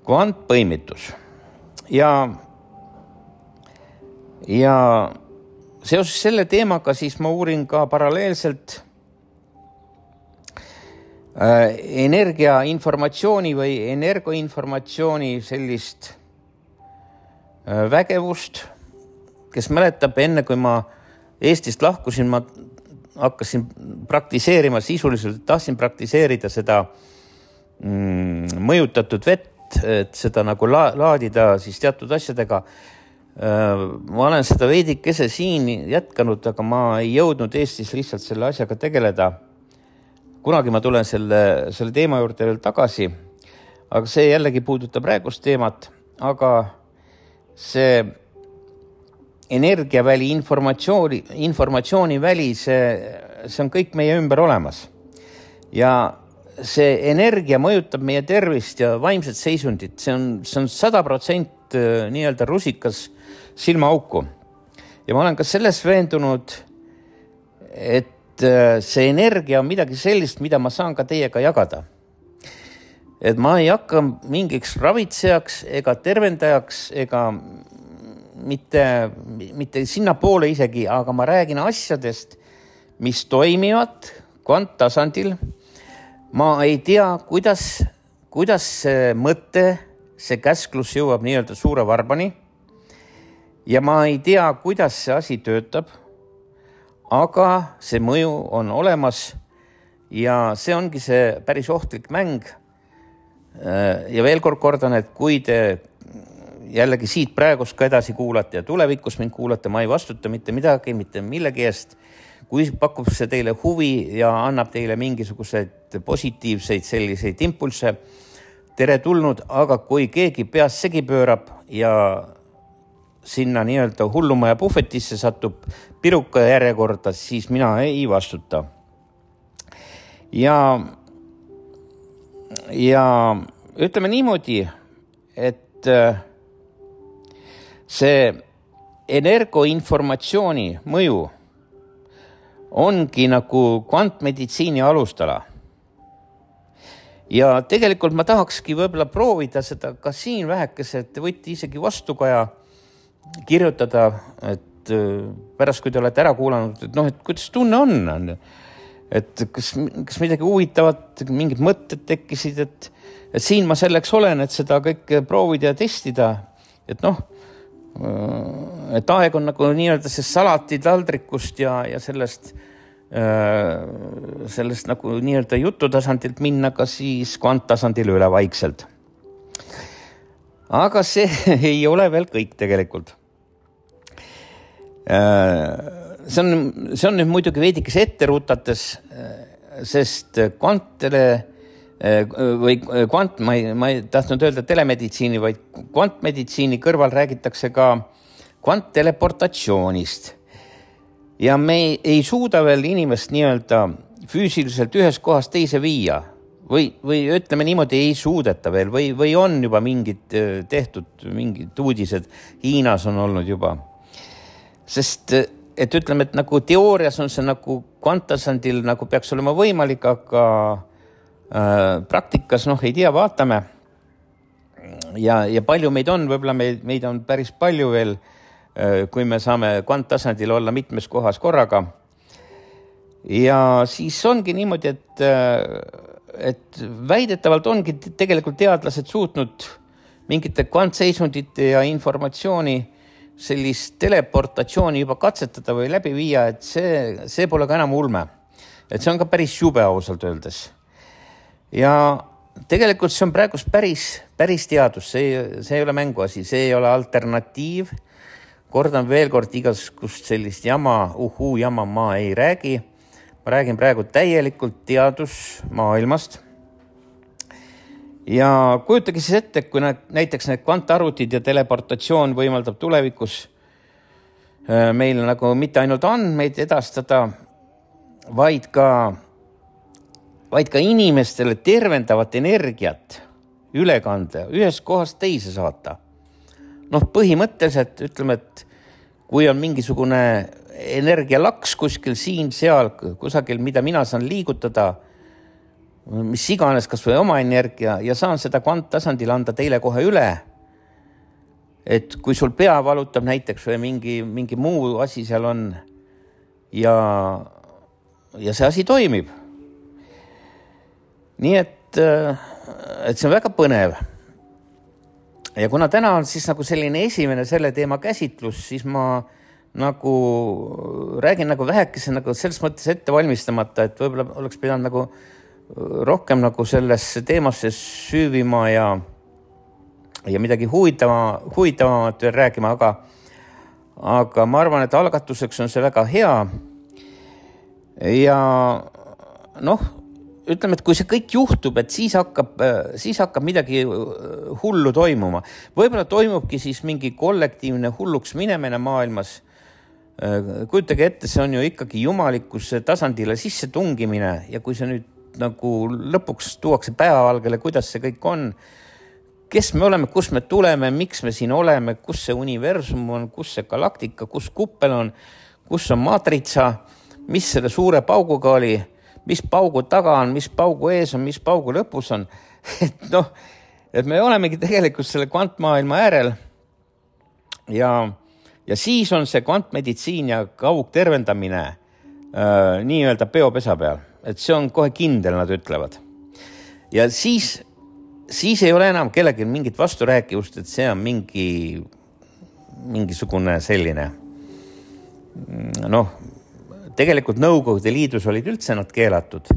Kvantpõimitus. Ja Ja seoses selle teemaga siis ma uurin ka paralleelselt äh, energiainformatsiooni või energoinformatsiooni sellist äh, vägevust, kes mäletab enne, kui ma Eestist lahkusin, ma hakkasin praktiseerima sisuliselt, tahtsin praktiseerida seda mm, mõjutatud vett, et seda nagu la- laadida siis teatud asjadega. Ma olen seda veidikese siin jätkanud, aga ma ei jõudnud Eestis lihtsalt selle asjaga tegeleda. Kunagi ma tulen selle, selle teema juurde veel tagasi, aga see jällegi puudutab praegust teemat, aga see energiaväli, informatsiooni, informatsiooniväli, see, see on kõik meie ümber olemas. Ja see energia mõjutab meie tervist ja vaimset seisundit. See on, see on sada protsenti nii-öelda rusikas silmaauku. Ja ma olen ka selles veendunud, et see energia on midagi sellist, mida ma saan ka teiega jagada. Et ma ei hakka mingiks ravitsejaks ega tervendajaks ega mitte, mitte sinna poole isegi, aga ma räägin asjadest, mis toimivad kvanttasandil. Ma ei tea, kuidas, kuidas see mõte, see käsklus jõuab nii-öelda suure varbani. Ja ma ei tea, kuidas see asi töötab, aga see mõju on olemas ja see ongi see päris ohtlik mäng. Ja veel kord kordan, et kui te jällegi siit praegust ka edasi kuulate ja tulevikus mind kuulate, ma ei vastuta mitte midagi, mitte millegi eest. Kui pakub see teile huvi ja annab teile mingisuguseid positiivseid selliseid impulse, tere tulnud, aga kui keegi peas segi pöörab ja sinna nii-öelda hullumaja puhvetisse satub piruka järjekorda, siis mina ei vastuta. ja, ja ütleme niimoodi, et see energoinformatsiooni mõju ongi nagu kvantmeditsiini alustala. Ja tegelikult ma tahakski võib-olla proovida seda ka siin vähekese, et te võite isegi vastukaja kirjutada, et pärast, kui te olete ära kuulanud, et noh, et kuidas tunne on, et kas, kas midagi huvitavat, mingid mõtted tekkisid, et, et siin ma selleks olen, et seda kõike proovida ja testida, et noh, et aeg on nagu nii-öelda see salati taldrikust ja, ja sellest sellest nagu nii-öelda jututasandilt minna ka siis kvanttasandile üle vaikselt. Aga see ei ole veel kõik tegelikult. See on, see on nüüd muidugi veidikes ette rutates, sest kvantele või kvant, ma ei, ma ei tahtnud öelda telemeditsiini, vaid kvantmeditsiini kõrval räägitakse ka kvantteleportatsioonist. Ja me ei, ei suuda veel inimest nii-öelda füüsiliselt ühes kohas teise viia või, või ütleme niimoodi ei suudeta veel või, või on juba mingid tehtud, mingid uudised Hiinas on olnud juba. Sest et ütleme, et nagu teoorias on see nagu kvanttasandil nagu peaks olema võimalik, aga äh, praktikas noh ei tea, vaatame. Ja, ja palju meid on, võib-olla meid, meid on päris palju veel, kui me saame kvanttasandil olla mitmes kohas korraga. Ja siis ongi niimoodi, et, et väidetavalt ongi tegelikult teadlased suutnud mingite kvantseisundite ja informatsiooni sellist teleportatsiooni juba katsetada või läbi viia, et see, see pole ka enam ulme. Et see on ka päris jube ausalt öeldes. Ja tegelikult see on praegu päris, päris teadus, see, see ei ole mänguasi, see ei ole alternatiiv. Kordan veel kord igasugust sellist jama, uhuu jama ma ei räägi. Ma räägin praegu täielikult teadusmaailmast. Ja kujutage siis ette, kui näiteks need kvantarvutid ja teleportatsioon võimaldab tulevikus meil nagu mitte ainult andmeid edastada, vaid ka, vaid ka inimestele tervendavat energiat ülekande ühes kohast teise saata. Noh, põhimõtteliselt ütleme, et kui on mingisugune energialaks kuskil siin, seal, kusagil, mida mina saan liigutada, mis iganes kas või oma energia ja saan seda kvanttasandil anda teile kohe üle, et kui sul pea valutab näiteks või mingi, mingi muu asi seal on ja, ja see asi toimib. Nii et, et see on väga põnev. Ja kuna täna on siis nagu selline esimene selle teema käsitlus, siis ma nagu räägin nagu vähekese nagu selles mõttes ette valmistamata, et võib-olla oleks pidanud nagu rohkem nagu sellesse teemasse süüvima ja, ja midagi huvitama, huvitavamat veel räägima, aga, aga ma arvan, et algatuseks on see väga hea. Ja noh, ütleme, et kui see kõik juhtub, et siis hakkab, siis hakkab midagi hullu toimuma. Võib-olla toimubki siis mingi kollektiivne hulluks minemine maailmas. Kujutage ette, see on ju ikkagi jumalikkuse tasandile sisse tungimine ja kui see nüüd nagu lõpuks tuuakse päevavalgele, kuidas see kõik on, kes me oleme, kus me tuleme, miks me siin oleme, kus see universum on, kus see galaktika, kus kuppel on, kus on maatritsa, mis selle suure pauguga oli, mis paugu taga on, mis paugu ees on, mis paugu lõpus on. Et noh, et me olemegi tegelikult selle kvantmaailma äärel ja, ja siis on see kvantmeditsiin ja kaugtervendamine äh, nii-öelda peopesa peal. Et see on kohe kindel, nad ütlevad. Ja siis, siis ei ole enam kellelgi mingit vasturääkivust, et see on mingi, mingisugune selline noh, tegelikult Nõukogude Liidus olid üldse nad keelatud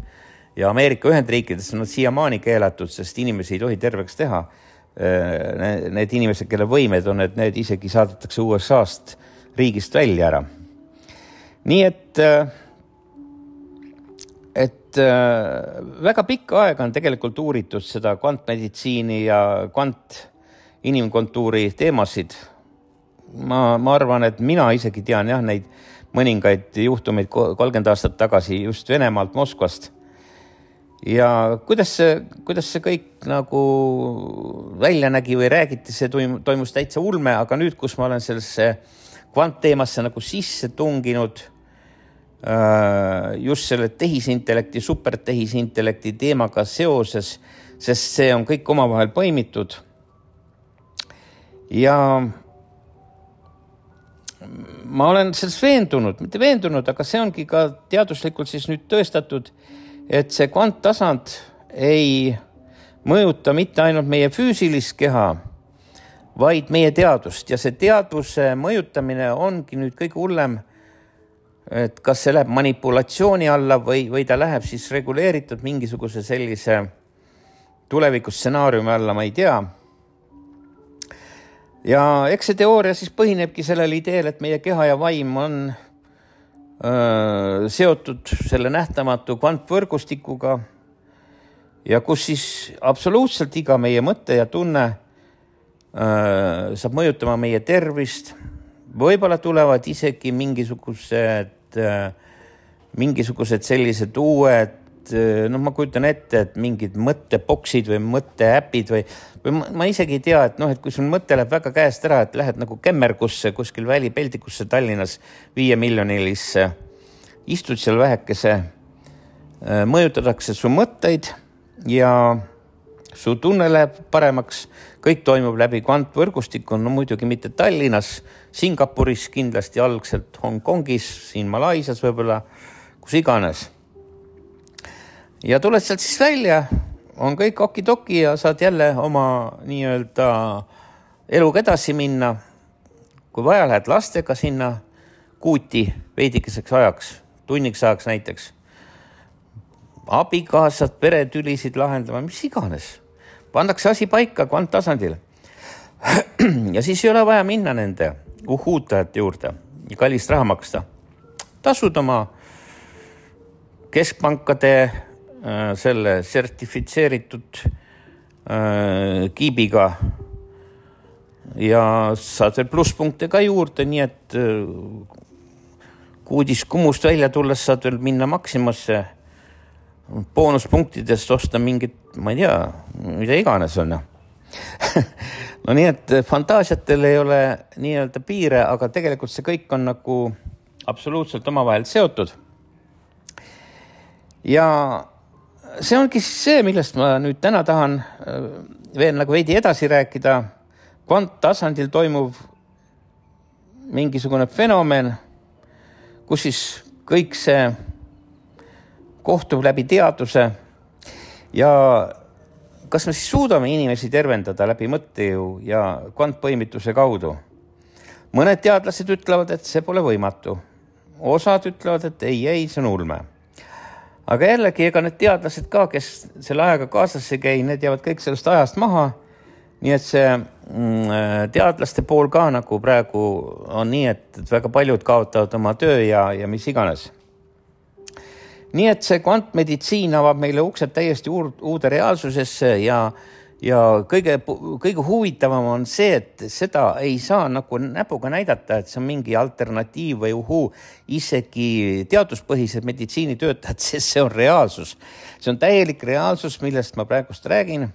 ja Ameerika Ühendriikides on nad siiamaani keelatud, sest inimesi ei tohi terveks teha. Need inimesed, kelle võimed on, et need isegi saadetakse U S A-st riigist välja ära. Nii et, et väga pikka aega on tegelikult uuritud seda kvantmeditsiini ja kvant inimkontuuri teemasid. Ma, ma arvan, et mina isegi tean jah, neid mõningaid juhtumeid kolmkümmend aastat tagasi just Venemaalt, Moskvast. ja kuidas see, kuidas see kõik nagu välja nägi või räägiti, see toimus täitsa ulme, aga nüüd, kus ma olen sellesse kvantteemasse nagu sisse tunginud, just selle tehisintellekti, supertehisintellekti teemaga seoses, sest see on kõik omavahel põimitud. Ja ma olen selles veendunud, mitte veendunud, aga see ongi ka teaduslikult siis nüüd tõestatud, et see kvanttasand ei mõjuta mitte ainult meie füüsilist keha, vaid meie teadust. Ja see teadvuse mõjutamine ongi nüüd kõige hullem, et kas see läheb manipulatsiooni alla või, või ta läheb siis reguleeritud mingisuguse sellise tulevikustsenaariumi alla, ma ei tea. Ja eks see teooria siis põhinebki sellel ideel, et meie keha ja vaim on öö, seotud selle nähtamatu kvantvõrgustikuga ja kus siis absoluutselt iga meie mõte ja tunne öö, saab mõjutama meie tervist. Võib-olla tulevad isegi mingisugused, mingisugused sellised uued, noh, ma kujutan ette, et mingid mõtteboksid või mõtteäpid või, või ma, ma isegi ei tea, et noh, et kui sul mõte läheb väga käest ära, et lähed nagu kämmergusse kuskil välipeldikusse Tallinnas viie miljonilisse, istud seal vähekese, mõjutatakse su mõtteid ja su tunne läheb paremaks, kõik toimub läbi kvantvõrgustiku, no muidugi mitte Tallinnas, Singapuris kindlasti algselt, Hongkongis, siin Malaisias võib-olla, kus iganes. Ja tuled sealt siis välja, on kõik okidoki ja saad jälle oma nii-öelda eluga edasi minna. Kui vaja, lähed lastega sinna kuuti veidikeseks ajaks, tunniks ajaks näiteks. Abikaasad, peretülisid lahendama, mis iganes. Pandakse asi paika kvanttasandil. Ja siis ei ole vaja minna nende uhuutajate juurde ja kallist raha maksta. Tasud oma keskpankade selle sertifitseeritud kiibiga ja saad veel plusspunkte ka juurde, nii et kuudis kummust välja tulles saad veel minna Maximasse boonuspunktidest osta mingit, ma ei tea, mida iganes on. No nii, et fantaasiatel ei ole nii-öelda piire, aga tegelikult see kõik on nagu absoluutselt omavahel seotud. Ja see ongi see, millest ma nüüd täna tahan veel nagu veidi edasi rääkida. Kvanttasandil toimuv mingisugune fenomen, kus siis kõik see kohtub läbi teaduse ja kas me siis suudame inimesi tervendada läbi mõttejõu ja kvantpõimituse kaudu? Mõned teadlased ütlevad, et see pole võimatu. Osad ütlevad, et ei, ei, see on ulme. Aga jällegi, ega need teadlased ka, kes selle ajaga kaasasse käi, need jäävad kõik sellest ajast maha. Nii et see teadlaste pool ka nagu praegu on nii, et väga paljud kaotavad oma töö ja, ja mis iganes. Nii et see kvantmeditsiin avab meile uksed täiesti uude reaalsusesse ja, ja kõige, kõige huvitavam on see, et seda ei saa nagu näpuga näidata, et see on mingi alternatiiv või uhuu, isegi teaduspõhised meditsiinitöötajad, sest see on reaalsus. See on täielik reaalsus, millest ma praegust räägin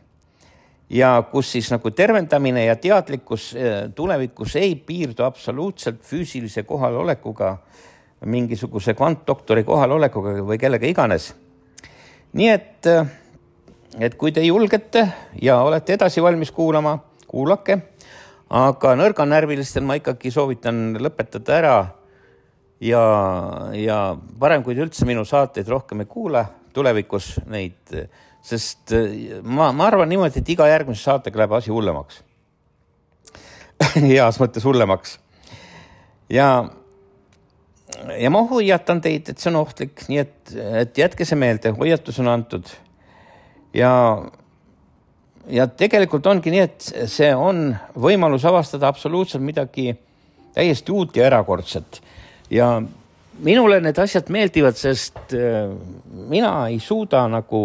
ja kus siis nagu tervendamine ja teadlikkus tulevikus ei piirdu absoluutselt füüsilise kohalolekuga, mingisuguse kvantdoktori kohalolekuga või kellega iganes. Nii et, et kui te julgete ja olete edasi valmis kuulama, kuulake, aga nõrganärvilistel ma ikkagi soovitan lõpetada ära ja, ja parem, kui te üldse minu saateid rohkem ei kuule tulevikus neid, sest ma, ma arvan niimoodi, et iga järgmise saatega läheb asi hullemaks. Heas mõttes hullemaks. Ja Ja ma hoiatan teid, et see on ohtlik, nii et, et jätke see meelde, hoiatus on antud. Ja, ja tegelikult ongi nii, et see on võimalus avastada absoluutselt midagi täiesti uut ja erakordset. Ja minule need asjad meeldivad, sest mina ei suuda nagu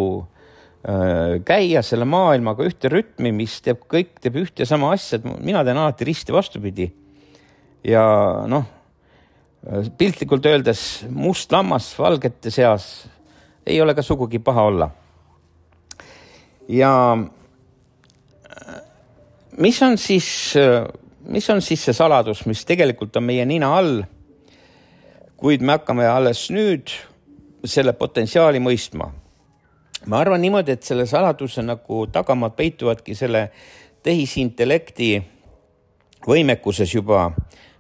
käia selle maailmaga ühte rütmi, mis teeb kõik, teeb ühte sama asja. Mina teen alati risti vastupidi. Ja noh, piltlikult öeldes must lammas valgete seas ei ole ka sugugi paha olla. ja mis on siis, mis on siis see saladus, mis tegelikult on meie nina all, kuid me hakkame alles nüüd selle potentsiaali mõistma. Ma arvan niimoodi, et selle saladuse nagu tagamaad peituvadki selle tehisintellekti võimekuses juba,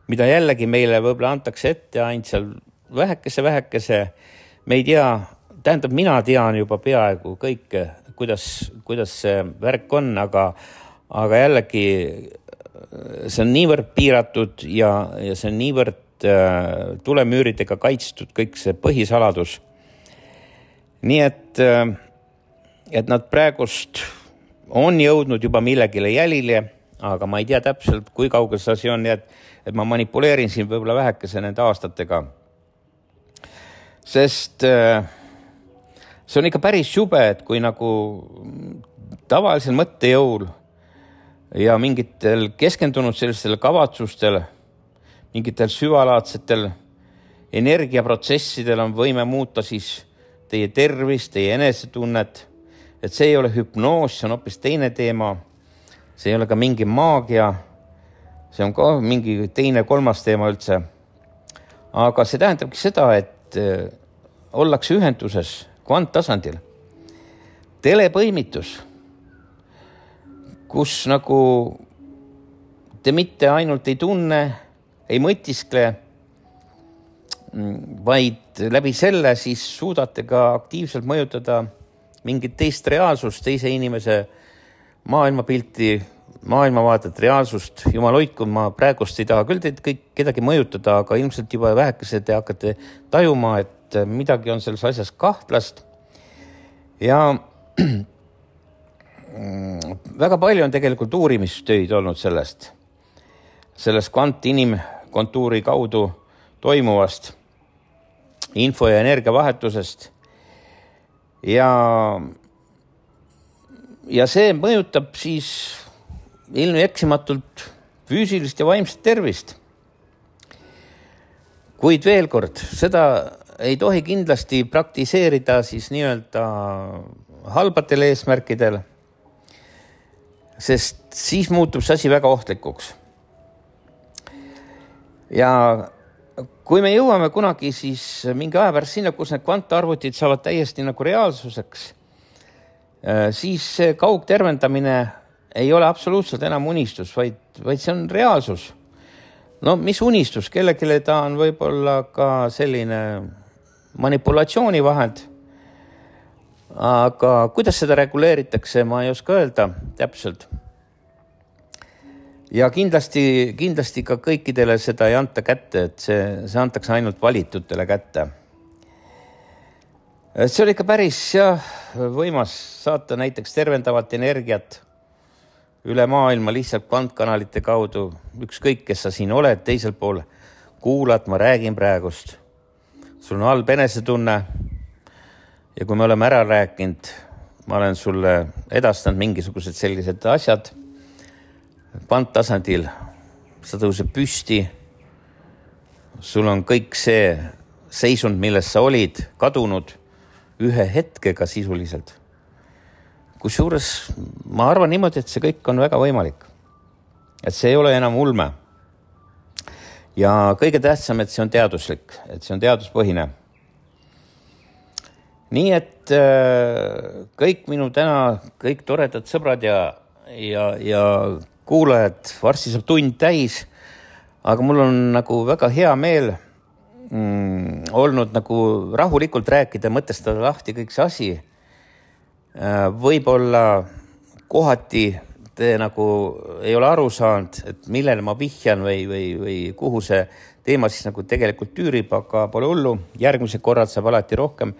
mida jällegi meile võib-olla antakse ette ainult seal vähekese, vähekese. Me ei tea, tähendab, mina tean juba peaaegu kõike, kuidas, kuidas see värk on, aga, aga jällegi see on niivõrd piiratud ja, ja see on niivõrd äh, tulemüüridega kaitstud kõik see põhisaladus. Nii et, äh, et nad praegust on jõudnud juba millegile jälile, aga ma ei tea täpselt, kui kaugel see asi on, nii et, et ma manipuleerin siin võib-olla vähekese nende aastatega. Sest äh, see on ikka päris jube, et kui nagu tavalisel mõttejõul ja mingitel keskendunud sellistel kavatsustel, mingitel süvalaadsetel energiaprotsessidel on võime muuta siis teie tervist, teie enesetunnet, et see ei ole hüpnoos, see on hoopis teine teema, see ei ole ka mingi maagia, see on ka mingi teine kolmas teema üldse. Aga see tähendabki seda, et ollakse ühenduses kvanttasandil. Telepõimitus, kus nagu te mitte ainult ei tunne, ei mõtiskle, vaid läbi selle siis suudate ka aktiivselt mõjutada mingit teist reaalsust, teise inimese maailmapilti, maailmavaadet, reaalsust. Jumal hoidku, ma praegust ei taha küll teid kõik kedagi mõjutada, aga ilmselt juba vähekese te hakkate tajuma, et midagi on selles asjas kahtlast. Ja väga palju on tegelikult uurimistöid olnud sellest, sellest kvantinimkontuuri kaudu toimuvast info- ja energiavahetusest. Ja, ja see mõjutab siis ilmi eksimatult füüsilist ja vaimset tervist. Kuid veel kord, seda ei tohi kindlasti praktiseerida siis nii-öelda halbatel eesmärkidel, sest siis muutub see asi väga ohtlikuks. Ja kui me jõuame kunagi siis mingi aja pärast sinna, kus need kvantarvutid saavad täiesti nagu reaalsuseks, siis see kaugtervendamine ei ole absoluutselt enam unistus, vaid, vaid see on reaalsus. No mis unistus? Kellelegi ta on võib-olla ka selline manipulatsioonivahend. Aga kuidas seda reguleeritakse, ma ei oska öelda täpselt. Ja kindlasti, kindlasti ka kõikidele seda ei anta kätte, et see, see antakse ainult valitutele kätte. See oli ikka päris jah, võimas saata näiteks tervendavat energiat üle maailma lihtsalt kvantkanalite kaudu. Ükskõik, kes sa siin oled, teisel pool kuulad, ma räägin praegust. Sul on halb enesetunne ja kui me oleme ära rääkinud, ma olen sulle edastanud mingisugused sellised asjad kvanttasandil, sa tõuseb püsti, sul on kõik see seisund, milles sa olid, kadunud ühe hetkega sisuliselt. Kusjuures ma arvan niimoodi, et see kõik on väga võimalik. Et see ei ole enam ulme. Ja kõige tähtsam, et see on teaduslik, et see on teaduspõhine. Nii et kõik minu täna, kõik toredad sõbrad ja, ja, ja kuulajad, varsti saab tund täis, aga mul on nagu väga hea meel mm, olnud nagu rahulikult rääkida, mõtestada lahti kõik see asi. Võib-olla kohati te nagu ei ole aru saanud, et millele ma vihjan või, või, või kuhu see teema siis nagu tegelikult tüürib, aga pole hullu. Järgmise korrad saab alati rohkem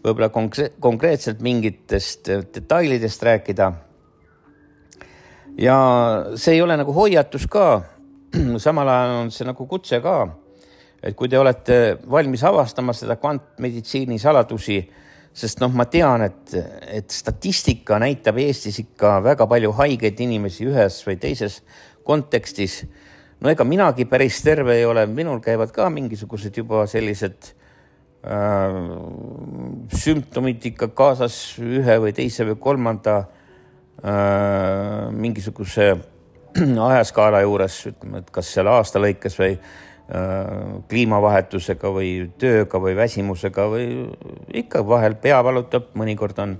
võib-olla konkreetselt mingitest detailidest rääkida. Ja see ei ole nagu hoiatus ka, samal ajal on see nagu kutse ka, et kui te olete valmis avastama seda kvantmeditsiini saladusi, sest noh, ma tean, et, et statistika näitab Eestis ikka väga palju haigeid inimesi ühes või teises kontekstis. No ega minagi päris terve ei ole, minul käivad ka mingisugused juba sellised äh, sümptomid ikka kaasas ühe või teise või kolmanda äh, mingisuguse ajaskaala juures, ütleme, et kas seal aasta lõikes või äh, kliimavahetusega või tööga või väsimusega või ikka vahel pea valutab, mõnikord on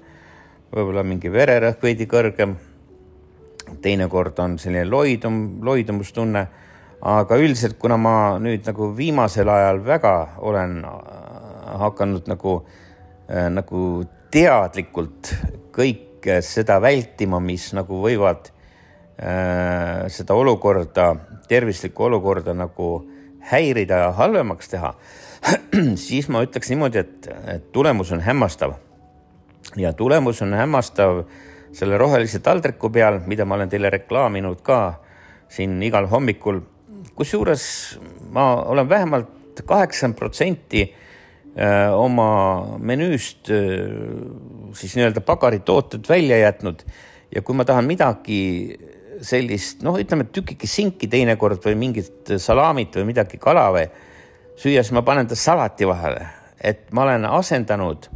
võib-olla mingi vererõhk veidi kõrgem, teinekord on selline loidum, loidumustunne, aga üldiselt, kuna ma nüüd nagu viimasel ajal väga olen hakanud nagu, äh, nagu teadlikult kõike seda vältima, mis nagu võivad äh, seda olukorda, tervislikku olukorda nagu häirida ja halvemaks teha, siis ma ütleks niimoodi, et, et tulemus on hämmastav. Ja tulemus on hämmastav selle rohelise taldriku peal, mida ma olen teile reklaaminud ka siin igal hommikul. Kusjuures ma olen vähemalt kaheksakümmend protsenti oma menüüst siis nii-öelda pagaritooted välja jätnud. Ja kui ma tahan midagi sellist, noh, ütleme, tükiki sinki teinekord või mingit salamit või midagi kala või süüa, siis ma panen ta salati vahele. Et ma olen asendanud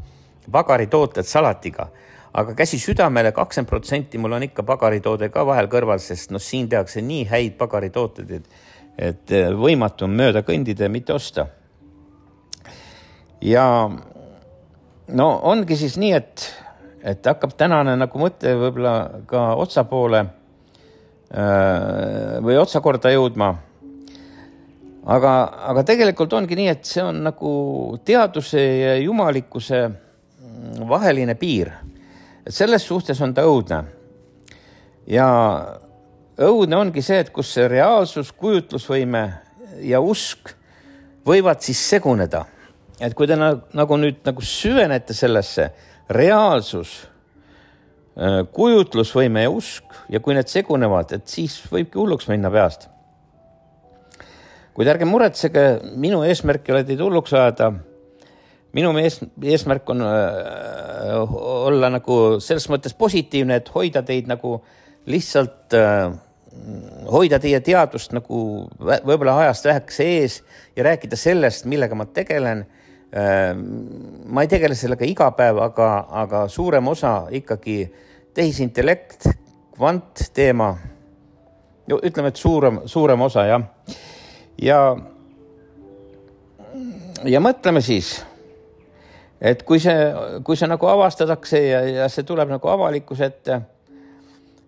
pagaritooted salatiga, aga käsi südamele kakskümmend protsenti mul on ikka pagaritoode ka vahel kõrval, sest no siin tehakse nii häid pagaritooted, et, et võimatu on mööda kõndida ja mitte osta. Ja no ongi siis nii, et, et hakkab tänane nagu mõte võib-olla ka otsa poole või otsakorda jõudma. Aga, aga tegelikult ongi nii, et see on nagu teaduse ja jumalikkuse vaheline piir. Et selles suhtes on ta õudne. Ja õudne ongi see, et kus see reaalsus, kujutlusvõime ja usk võivad siis seguneda. Et kui te nagu nüüd nagu süvenete sellesse reaalsus, kujutlusvõime ja usk ja kui need segunevad, et siis võibki hulluks minna peast. Kuid ärge muretsege, minu eesmärk ei ole teid hulluks ajada. Minu eesmärk on olla nagu selles mõttes positiivne, et hoida teid nagu lihtsalt, hoida teie teadust nagu võib-olla ajast vähekese ees ja rääkida sellest, millega ma tegelen. Ma ei tegele sellega iga päev, aga, aga suurem osa ikkagi tehisintellekt, kvant teema. Ütleme, et suurem, suurem osa, jah. Ja, ja mõtleme siis, et kui see, kui see nagu avastatakse ja, ja see tuleb nagu avalikkuse ette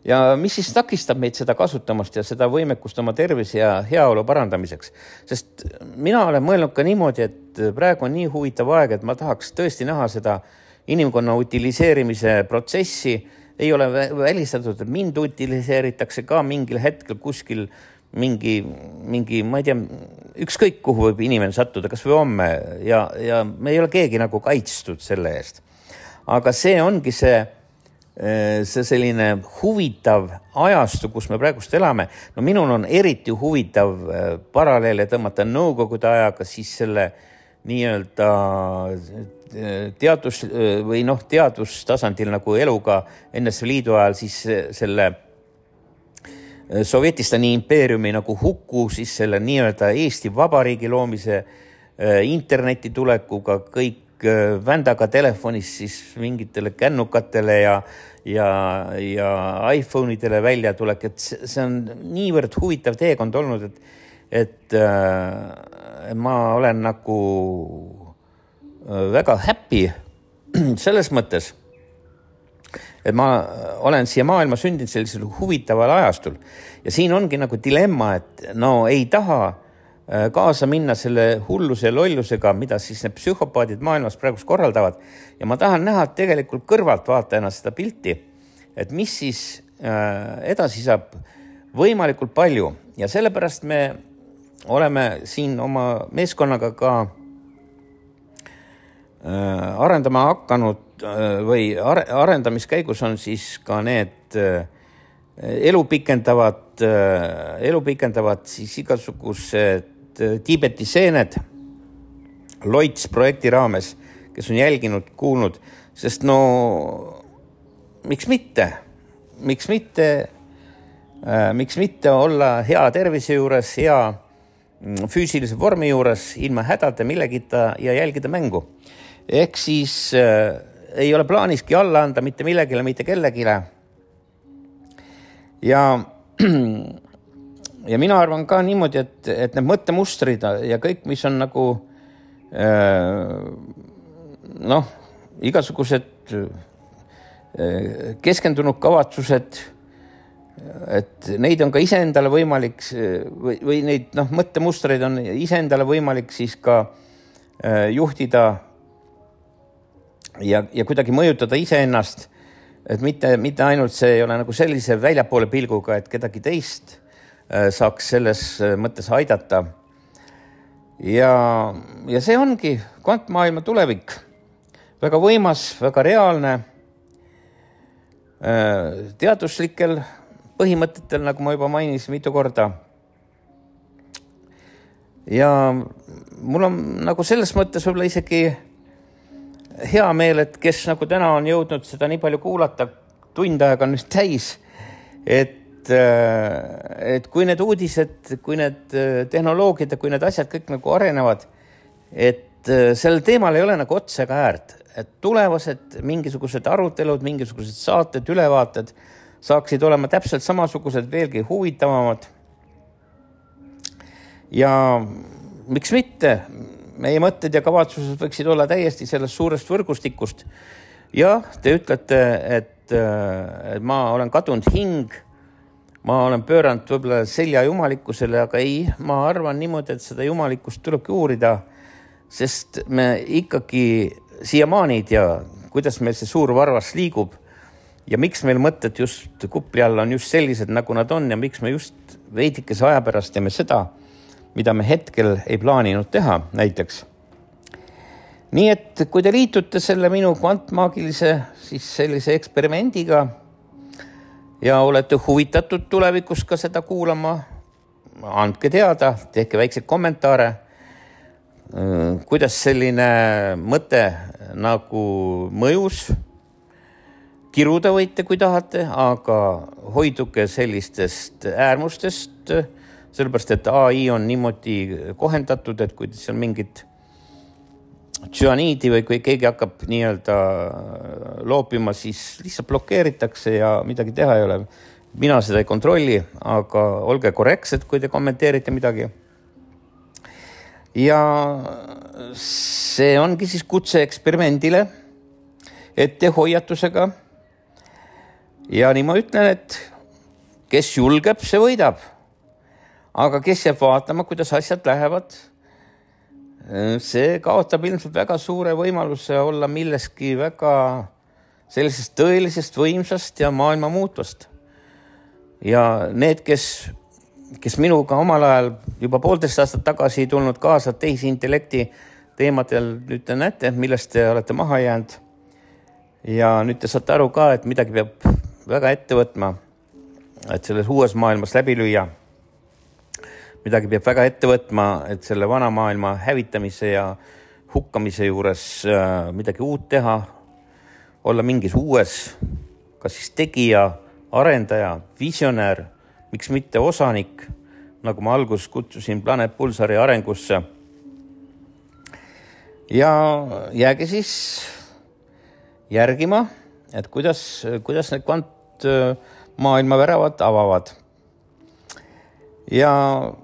ja mis siis takistab meid seda kasutamast ja seda võimekust oma tervise ja heaolu parandamiseks. Sest mina olen mõelnud ka niimoodi, et praegu on nii huvitav aeg, et ma tahaks tõesti näha seda inimkonna utiliseerimise protsessi. Ei ole välistatud, et mind utiliseeritakse ka mingil hetkel kuskil mingi, mingi, ma ei tea, ükskõik kuhu võib inimene sattuda, kas või homme ja, ja me ei ole keegi nagu kaitstud selle eest. Aga see ongi see, see selline huvitav ajastu, kus me praegust elame. No minul on eriti huvitav paralleele tõmmata nõukogude ajaga siis selle nii-öelda teadus või noh, teadustasandil nagu eluga N S V Liidu ajal siis selle Sovjetistani impeeriumi nagu hukku, siis selle nii-öelda Eesti Vabariigi loomise interneti tulekuga, kõik vändaga telefonis siis mingitele kännukatele ja, ja, ja iPhone'idele välja tulek, et see on niivõrd huvitav teekond olnud, et, et äh, ma olen nagu väga happy selles mõttes, et ma olen siia maailma sündinud sellisel huvitaval ajastul. Ja siin ongi nagu dilemma, et no ei taha kaasa minna selle hulluse ja lollusega, mida siis need psühhopaadid maailmas praegust korraldavad. Ja ma tahan näha tegelikult kõrvalt vaatajana seda pilti, et mis siis edasi saab võimalikult palju. Ja sellepärast me oleme siin oma meeskonnaga ka arendama hakanud või arendamiskäigus on siis ka need elu pikendavad, elu pikendavad siis igasugused Tiibeti seened Loits projekti raames, kes on jälginud, kuulnud, sest no miks mitte, miks mitte, miks mitte olla hea tervise juures, hea füüsilise vormi juures, ilma hädade millegita ja jälgida mängu. Ehk siis äh, ei ole plaaniski alla anda mitte millegile, mitte kellegile. ja ja mina arvan ka niimoodi, et, et need mõttemustrid ja kõik, mis on nagu noh, igasugused keskendunud kavatsused, et neid on ka iseendale võimalik või, või neid noh, mõttemustreid on iseendale võimalik siis ka juhtida ja, ja kuidagi mõjutada iseennast, et mitte, mitte ainult see ei ole nagu sellise väljapoole pilguga, et kedagi teist saaks selles mõttes aidata. Ja, ja see ongi kvantmaailma tulevik. Väga võimas, väga reaalne, teaduslikel põhimõtetel, nagu ma juba mainisin mitu korda. Ja mul on nagu selles mõttes võib-olla isegi hea meel, et kes nagu täna on jõudnud seda nii palju kuulata, tund aega on nüüd täis, et et kui need uudised, kui need tehnoloogiad ja kui need asjad kõik nagu arenevad, et sellel teemal ei ole nagu otsa ega äärt, et tulevased mingisugused arutelud, mingisugused saated, ülevaated saaksid olema täpselt samasugused, veelgi huvitavamad. Ja miks mitte? Meie mõtted ja kavatsused võiksid olla täiesti sellest suurest võrgustikust. Ja te ütlete, et, et ma olen kadunud hing, ma olen pööranud võib-olla selja jumalikkusele, aga ei, ma arvan niimoodi, et seda jumalikkust tulebki uurida, sest me ikkagi siiamaani ei tea, kuidas meil see suur varvas liigub ja miks meil mõtted just kupli all on just sellised, nagu nad on ja miks me just veidikese aja pärast teeme seda, mida me hetkel ei plaaninud teha näiteks. Nii et kui te liitute selle minu kvantmaagilise siis sellise eksperimendiga ja olete huvitatud tulevikus ka seda kuulama, andke teada, tehke väikseid kommentaare, kuidas selline mõte nagu mõjus. Kiruda võite, kui tahate, aga hoiduke sellistest äärmustest, sellepärast, et A I on niimoodi kohendatud, et kui seal mingid tsüaniidi või kui keegi hakkab nii-öelda loopima, siis lihtsalt blokeeritakse ja midagi teha ei ole. Mina seda ei kontrolli, aga olge korrektsed, kui te kommenteerite midagi. Ja see ongi siis kutse eksperimendile, ette hoiatusega. Ja nii ma ütlen, et kes julgeb, see võidab. Aga kes jääb vaatama, kuidas asjad lähevad, see kaotab ilmselt väga suure võimaluse olla milleski väga sellisest tõelisest võimsast ja maailma muutvast. Ja need, kes, kes minuga omal ajal juba poolteist aastat tagasi tulnud kaasa tehisintellekti teemadel, nüüd te näete, millest te olete maha jäänud. Ja nüüd te saate aru ka, et midagi peab väga ette võtma, et selles uues maailmas läbi lüüa. Midagi peab väga ette võtma, et selle vana maailma hävitamise ja hukkamise juures midagi uut teha, olla mingis uues, kas siis tegija, arendaja, visionäär, miks mitte osanik, nagu ma alguses kutsusin Planet Pulsari arengusse. Ja jääge siis järgima, et kuidas, kuidas need kvantmaailma väravad avavad. Ja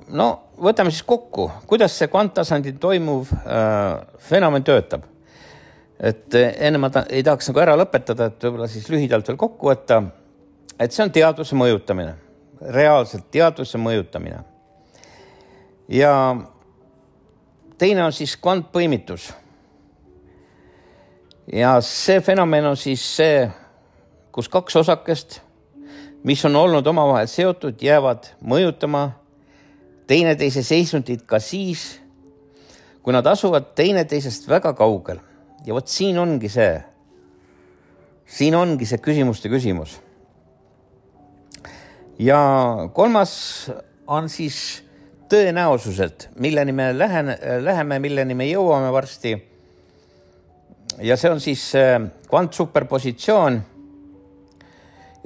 no, võtame siis kokku, kuidas see kvanttasandil toimuv äh, fenomen töötab. Et enne ma ta, ei tahaks nagu ära lõpetada, et võib-olla siis lühidalt veel kokku võtta, et see on teadvuse mõjutamine, reaalselt teadvuse mõjutamine. Ja teine on siis kvantpõimitus. Ja see fenomen on siis see, kus kaks osakest, mis on olnud omavahel seotud, jäävad mõjutama teineteise seisundit ka siis, kui nad asuvad teineteisest väga kaugel. Ja vot siin ongi see, siin ongi see küsimuste küsimus. Ja kolmas on siis tõenäosused, milleni me läheme, läheme, milleni me jõuame varsti. Ja see on siis kvantsuperpositsioon.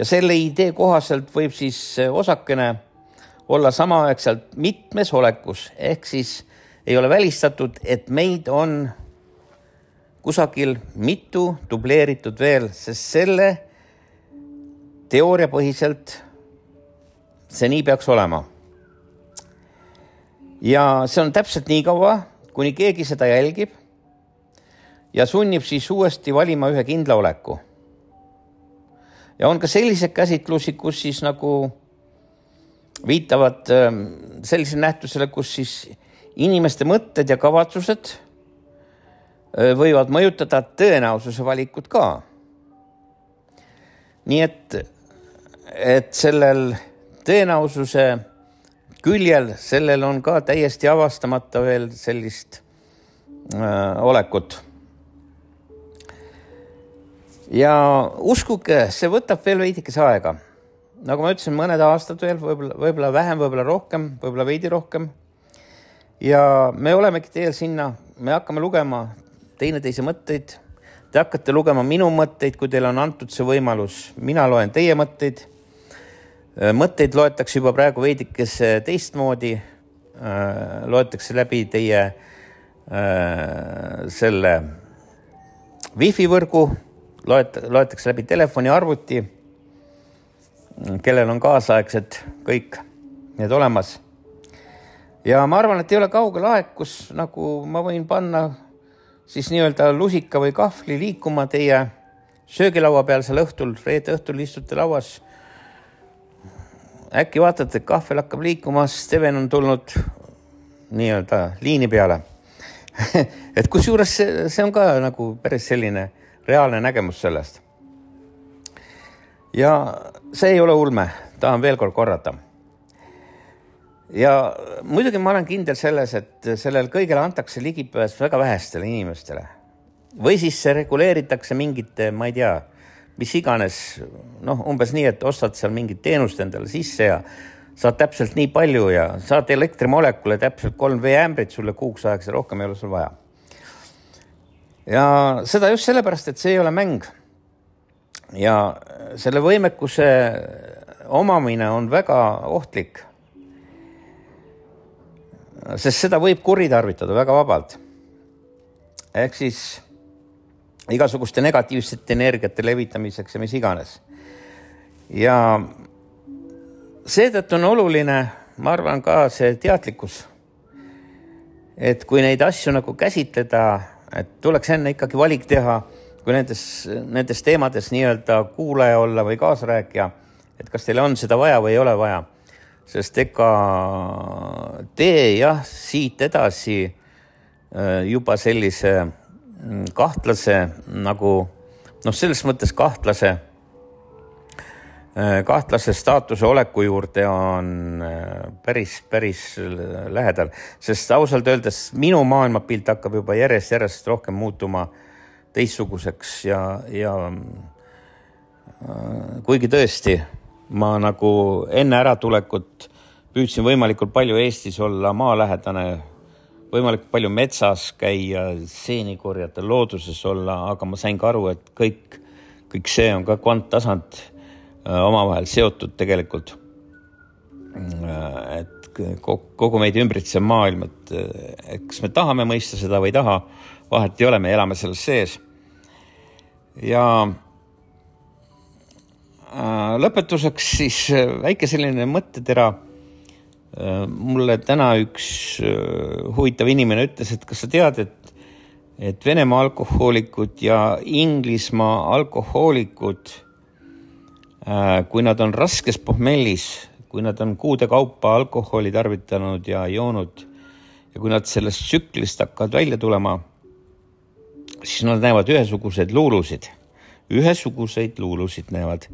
Ja selle idee kohaselt võib siis osakene olla samaaegselt mitmes olekus, ehk siis ei ole välistatud, et meid on kusagil mitu dubleeritud veel, sest selle teooria põhiselt see nii peaks olema. Ja see on täpselt nii kaua, kuni keegi seda jälgib ja sunnib siis uuesti valima ühe kindla oleku. Ja on ka sellised käsitlusi, kus siis nagu viitavad sellisele nähtusele, kus siis inimeste mõtted ja kavatsused võivad mõjutada tõenäosuse valikut ka. Nii et, et sellel tõenäosuse küljel, sellel on ka täiesti avastamata veel sellist äh, olekut. Ja uskuge, see võtab veel veidikese aega. Nagu ma ütlesin, mõned aastad veel, võib-olla, võib-olla vähem, võib-olla rohkem, võib-olla veidi rohkem. Ja me olemegi teel sinna, me hakkame lugema teineteise mõtteid. Te hakkate lugema minu mõtteid, kui teil on antud see võimalus. Mina loen teie mõtteid. Mõtteid loetakse juba praegu veidikes teistmoodi. Loetakse läbi teie selle wifi võrgu, loetakse läbi telefoni arvuti, kellel on kaasaegsed kõik need olemas. Ja ma arvan, et ei ole kaugel aeg, kus nagu ma võin panna siis nii-öelda lusika või kahvli liikuma teie söögilaua peal seal õhtul, reede õhtul istute lauas. Äkki vaatate, et kahvel hakkab liikuma, Steven on tulnud nii-öelda liini peale. Et kus juures see, see on ka nagu päris selline reaalne nägemus sellest. Ja see ei ole ulme, tahan veel kord korrata. Ja muidugi ma olen kindel selles, et sellel kõigele antakse ligipääs väga vähestele inimestele. Või siis see reguleeritakse mingite, ma ei tea, mis iganes, noh, umbes nii, et ostad seal mingit teenust endale sisse ja saad täpselt nii palju ja saad elektrimolekule täpselt kolm veeämbrit sulle kuuks ajaks ja rohkem ei ole sul vaja. Ja seda just sellepärast, et see ei ole mäng. Ja selle võimekuse omamine on väga ohtlik. Sest seda võib kuritarvitada väga vabalt. Ehk siis igasuguste negatiivsete energiate levitamiseks ja mis iganes. Ja seetõttu on oluline, ma arvan ka see teadlikkus, et kui neid asju nagu käsitleda, et tuleks enne ikkagi valik teha, kui nendes, nendes teemades nii-öelda kuulaja olla või kaasarääkija, et kas teil on seda vaja või ei ole vaja. Sest ega tee jah, siit edasi juba sellise kahtlase, nagu, noh, selles mõttes kahtlase, kahtlase staatuse oleku juurde on päris, päris lähedal. Sest ausalt öeldes minu maailmapilt hakkab juba järjest, järjest rohkem muutuma teistsuguseks ja, ja kuigi tõesti, ma nagu enne äratulekut püüdsin võimalikult palju Eestis olla maalähedane, võimalikult palju metsas käia, seeni korjata, looduses olla, aga ma sain ka aru, et kõik, kõik see on ka kvanttasand omavahel seotud tegelikult. Et kogu meid ümbritsev maailm, et, et kas me tahame mõista seda või taha, vahet ei ole, me elame selles sees. Ja lõpetuseks siis väike selline mõttetera. Mulle täna üks huvitav inimene ütles, et kas sa tead, et, et Venemaa alkohoolikud ja Inglismaa alkohoolikud, kui nad on raskes pohmellis, kui nad on kuude kaupa alkoholi tarvitanud ja joonud ja kui nad sellest tsüklist hakkavad välja tulema, siis nad näevad ühesuguseid luulusid. Ühesuguseid luulusid näevad.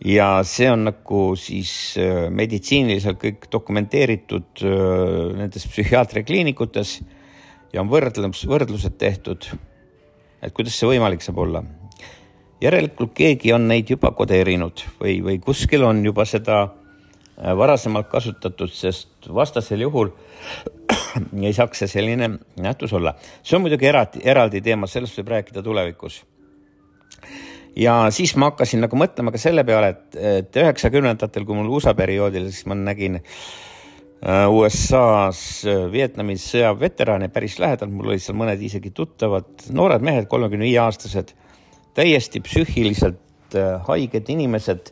Ja see on nagu siis meditsiiniliselt kõik dokumenteeritud nendes psühhiaatriakliinikutes ja on võrdlus, võrdlused tehtud, et kuidas see võimalik saab olla. Järelikult keegi on neid juba kodeerinud või, või kuskil on juba seda varasemalt kasutatud, sest vastasel juhul ei saaks see selline nähtus olla. See on muidugi eraldi, eraldi teema, sellest võib rääkida tulevikus. Ja siis ma hakkasin nagu mõtlema ka selle peale, et, et üheksakümnendatel, kui mul U S A perioodil, siis ma nägin U S A-s Vietnamis sõjaveterane päris lähedal, mul oli seal mõned isegi tuttavad, noored mehed, kolmekümne viie aastased, täiesti psüühiliselt haiged inimesed,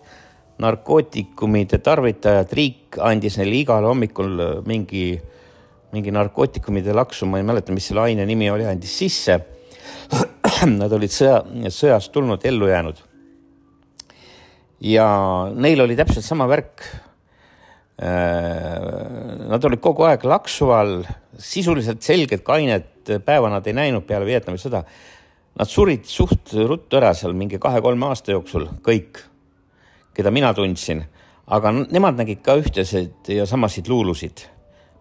narkootikumide tarvitajad, riik andis neile igal hommikul mingi, mingi narkootikumide laksu, ma ei mäleta, mis selle aine nimi oli, andis sisse. Nad olid sõja, sõjast tulnud, ellu jäänud. Ja neil oli täpselt sama värk. Nad olid kogu aeg laksu all, sisuliselt selged kained päeva nad ei näinud peale Vietnami sõda. Nad surid suht ruttu ära seal mingi kahe-kolme aasta jooksul, kõik, keda mina tundsin. Aga nemad nägid ka ühtesid ja samasid luulusid,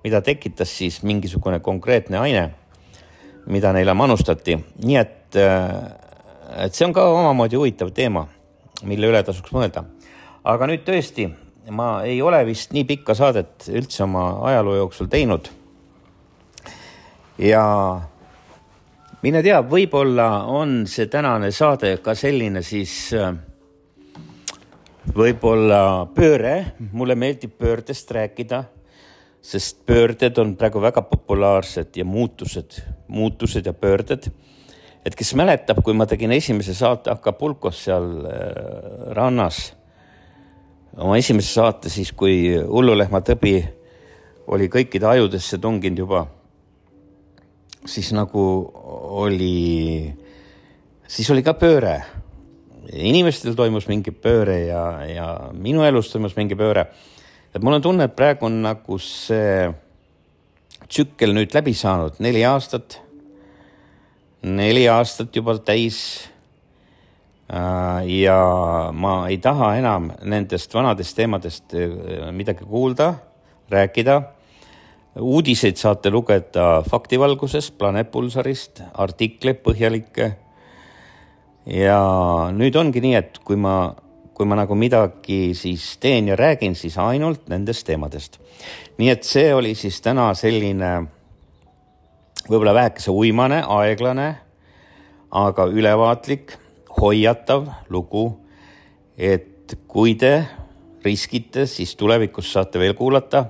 mida tekitas siis mingisugune konkreetne aine, mida neile manustati. Nii et, et see on ka omamoodi huvitav teema, mille üle tasuks mõelda. Aga nüüd tõesti, ma ei ole vist nii pikka saadet üldse oma ajaloo jooksul teinud. Ja mine tea, võib-olla on see tänane saade ka selline siis võib-olla pööre. Mulle meeldib pöördest rääkida, sest pöörded on praegu väga populaarsed ja muutused, muutused ja pöörded. Et kes mäletab, kui ma tegin esimese saate Acapulcos seal rannas, oma esimese saate siis, kui hullulehma tõbi oli kõikide ajudesse tunginud juba, siis nagu oli, siis oli ka pööre. Inimestel toimus mingi pööre ja, ja minu elus toimus mingi pööre. Et mul on tunne, et praegu on nagu see tsükkel nüüd läbi saanud neli aastat, neli aastat juba täis ja ma ei taha enam nendest vanadest teemadest midagi kuulda, rääkida. Uudiseid saate lugeda faktivalguses, Planet Pulsarist, artikleid põhjalikke. Ja nüüd ongi nii, et kui ma, kui ma nagu midagi siis teen ja räägin, siis ainult nendest teemadest. Nii et see oli siis täna selline võib-olla vähekese uimane, aeglane, aga ülevaatlik, hoiatav lugu, et kui te riskite, siis tulevikus saate veel kuulata,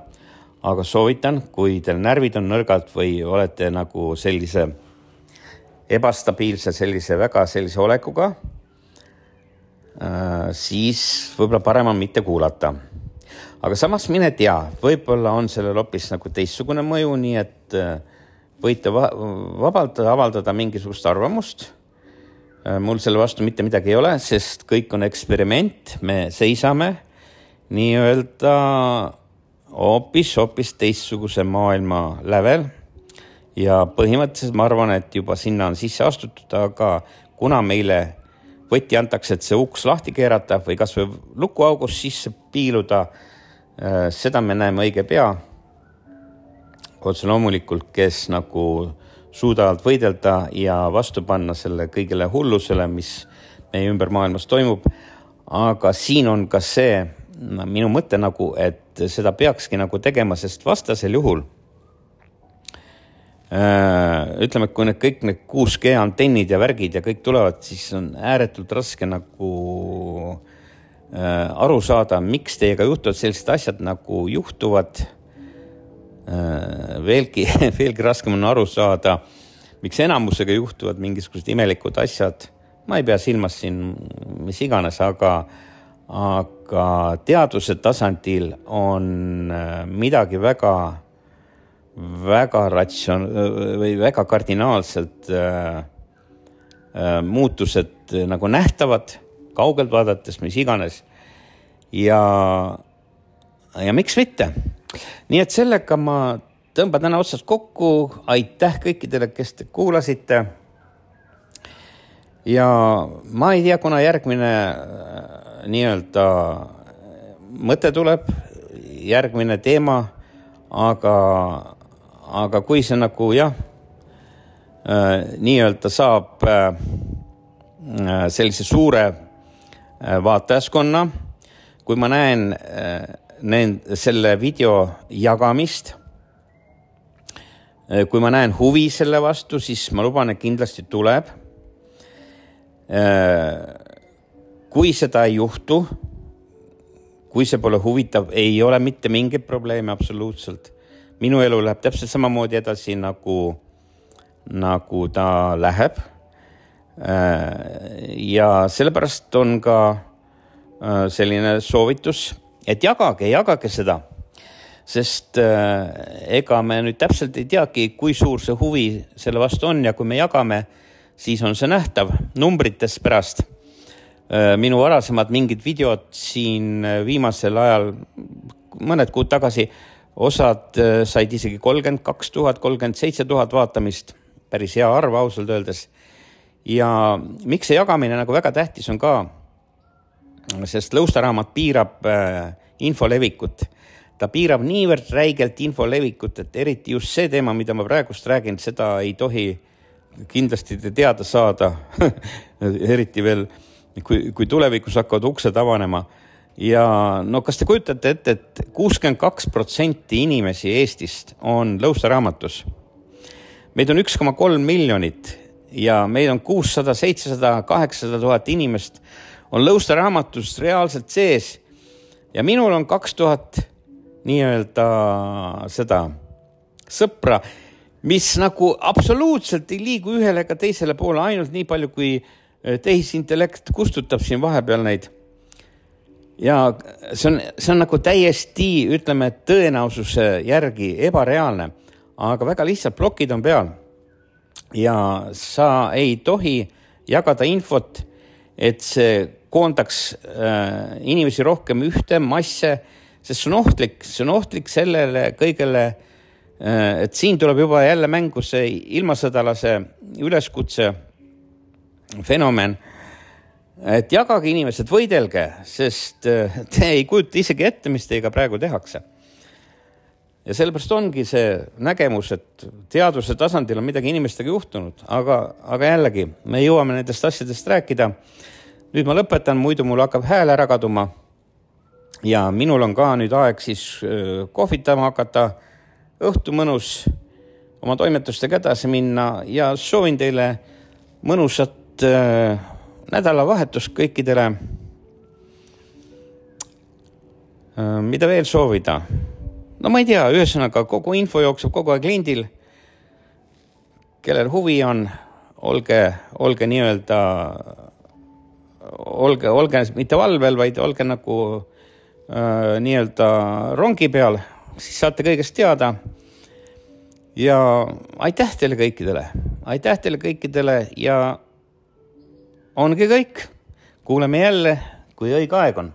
aga soovitan, kui teil närvid on nõrgad või olete nagu sellise ebastabiilse, sellise väga sellise olekuga, siis võib-olla parem on mitte kuulata. Aga samas mine tea, võib-olla on sellel hoopis nagu teistsugune mõju, nii et võite vabalt avaldada mingisugust arvamust. Mul selle vastu mitte midagi ei ole, sest kõik on eksperiment, me seisame nii öelda hoopis, hoopis teistsuguse maailma lävel ja põhimõtteliselt ma arvan, et juba sinna on sisse astutud, aga kuna meile võtti antakse, et see uks lahti keerata või kas või lukuaugus sisse piiluda, seda me näeme õige pea. Otse loomulikult, kes nagu suudavad võidelda ja vastu panna selle kõigele hullusele, mis meie ümber maailmas toimub. Aga siin on ka see minu mõte nagu, et seda peakski nagu tegema, sest vastasel juhul ütleme, et kui need kõik need kuus G antennid ja värgid ja kõik tulevad, siis on ääretult raske nagu aru saada, miks teiega juhtuvad sellised asjad nagu juhtuvad. Veelgi, veelgi raskem on aru saada, miks enamusega juhtuvad mingisugused imelikud asjad. Ma ei pea silmas siin mis iganes, aga, aga teaduse tasandil on midagi väga, väga ratsion, või väga kardinaalselt äh, muutused nagu nähtavad, kaugelt vaadates, mis iganes. Ja, ja miks mitte? Nii et sellega ma tõmban täna otsast kokku. Aitäh kõikidele, kes te kuulasite. Ja ma ei tea, kuna järgmine nii-öelda mõte tuleb, järgmine teema, aga, aga kui see nagu jah, nii-öelda saab sellise suure vaatajaskonna, kui ma näen Nend, selle video jagamist, kui ma näen huvi selle vastu, siis ma luban, et kindlasti tuleb. Kui seda ei juhtu, kui see pole huvitav, ei ole mitte mingit probleemi absoluutselt. Minu elu läheb täpselt samamoodi edasi, nagu, nagu ta läheb. Ja sellepärast on ka selline soovitus, et jagage, jagage seda, sest ega me nüüd täpselt ei teagi, kui suur see huvi selle vastu on ja kui me jagame, siis on see nähtav numbrites pärast. Minu varasemad mingid videod siin viimasel ajal, mõned kuud tagasi, osad said isegi kolmkümmend kaks tuhat, kolmkümmend seitse tuhat vaatamist, päris hea arv ausalt öeldes. Ja miks see jagamine nagu väga tähtis on ka, sest Lõustaraamat piirab info levikut. Ta piirab niivõrd räigelt info levikut, et eriti just see teema, mida ma praegust räägin, seda ei tohi kindlasti teada saada, eriti veel, kui, kui tulevikus hakkavad uksed avanema. Ja no kas te kujutate ette, et kuuskümmend kaks protsenti inimesi Eestist on Lõustaraamatus. Meid on üks koma kolm miljonit ja meid on kuussada, seitsesada, kaheksasada tuhat inimest on Lõustaraamatus reaalselt sees ja minul on kaks tuhat nii-öelda seda sõpra, mis nagu absoluutselt ei liigu ühele ega teisele poole, ainult nii palju, kui tehisintellekt kustutab siin vahepeal neid. Ja see on, see on nagu täiesti, ütleme, tõenäosuse järgi ebareaalne, aga väga lihtsalt plokid on peal. Ja sa ei tohi jagada infot, et see koondaks äh, inimesi rohkem ühte masse, sest see on ohtlik, see on ohtlik sellele kõigele, äh, et siin tuleb juba jälle mängu see ilmasõdalase üleskutse fenomen, et jagage inimesed, võidelge, sest äh, te ei kujuta isegi ette, mis teiega praegu tehakse. Ja sellepärast ongi see nägemus, et teaduse tasandil on midagi inimestega juhtunud, aga, aga jällegi, me jõuame nendest asjadest rääkida. Nüüd ma lõpetan, muidu mul hakkab hääl ära kaduma ja minul on ka nüüd aeg siis kohvitama hakata, õhtu mõnus oma toimetustega edasi minna ja soovin teile mõnusat äh, nädalavahetust kõikidele. Äh, mida veel soovida? No ma ei tea, ühesõnaga kogu info jookseb kogu aeg lindil. Kellel huvi on, olge, olge nii-öelda Olge, olge mitte valvel, vaid olge nagu äh, nii-öelda rongi peal, siis saate kõigest teada. Ja aitäh teile kõikidele, aitäh teile kõikidele ja ongi kõik. Kuuleme jälle, kui õige aeg on.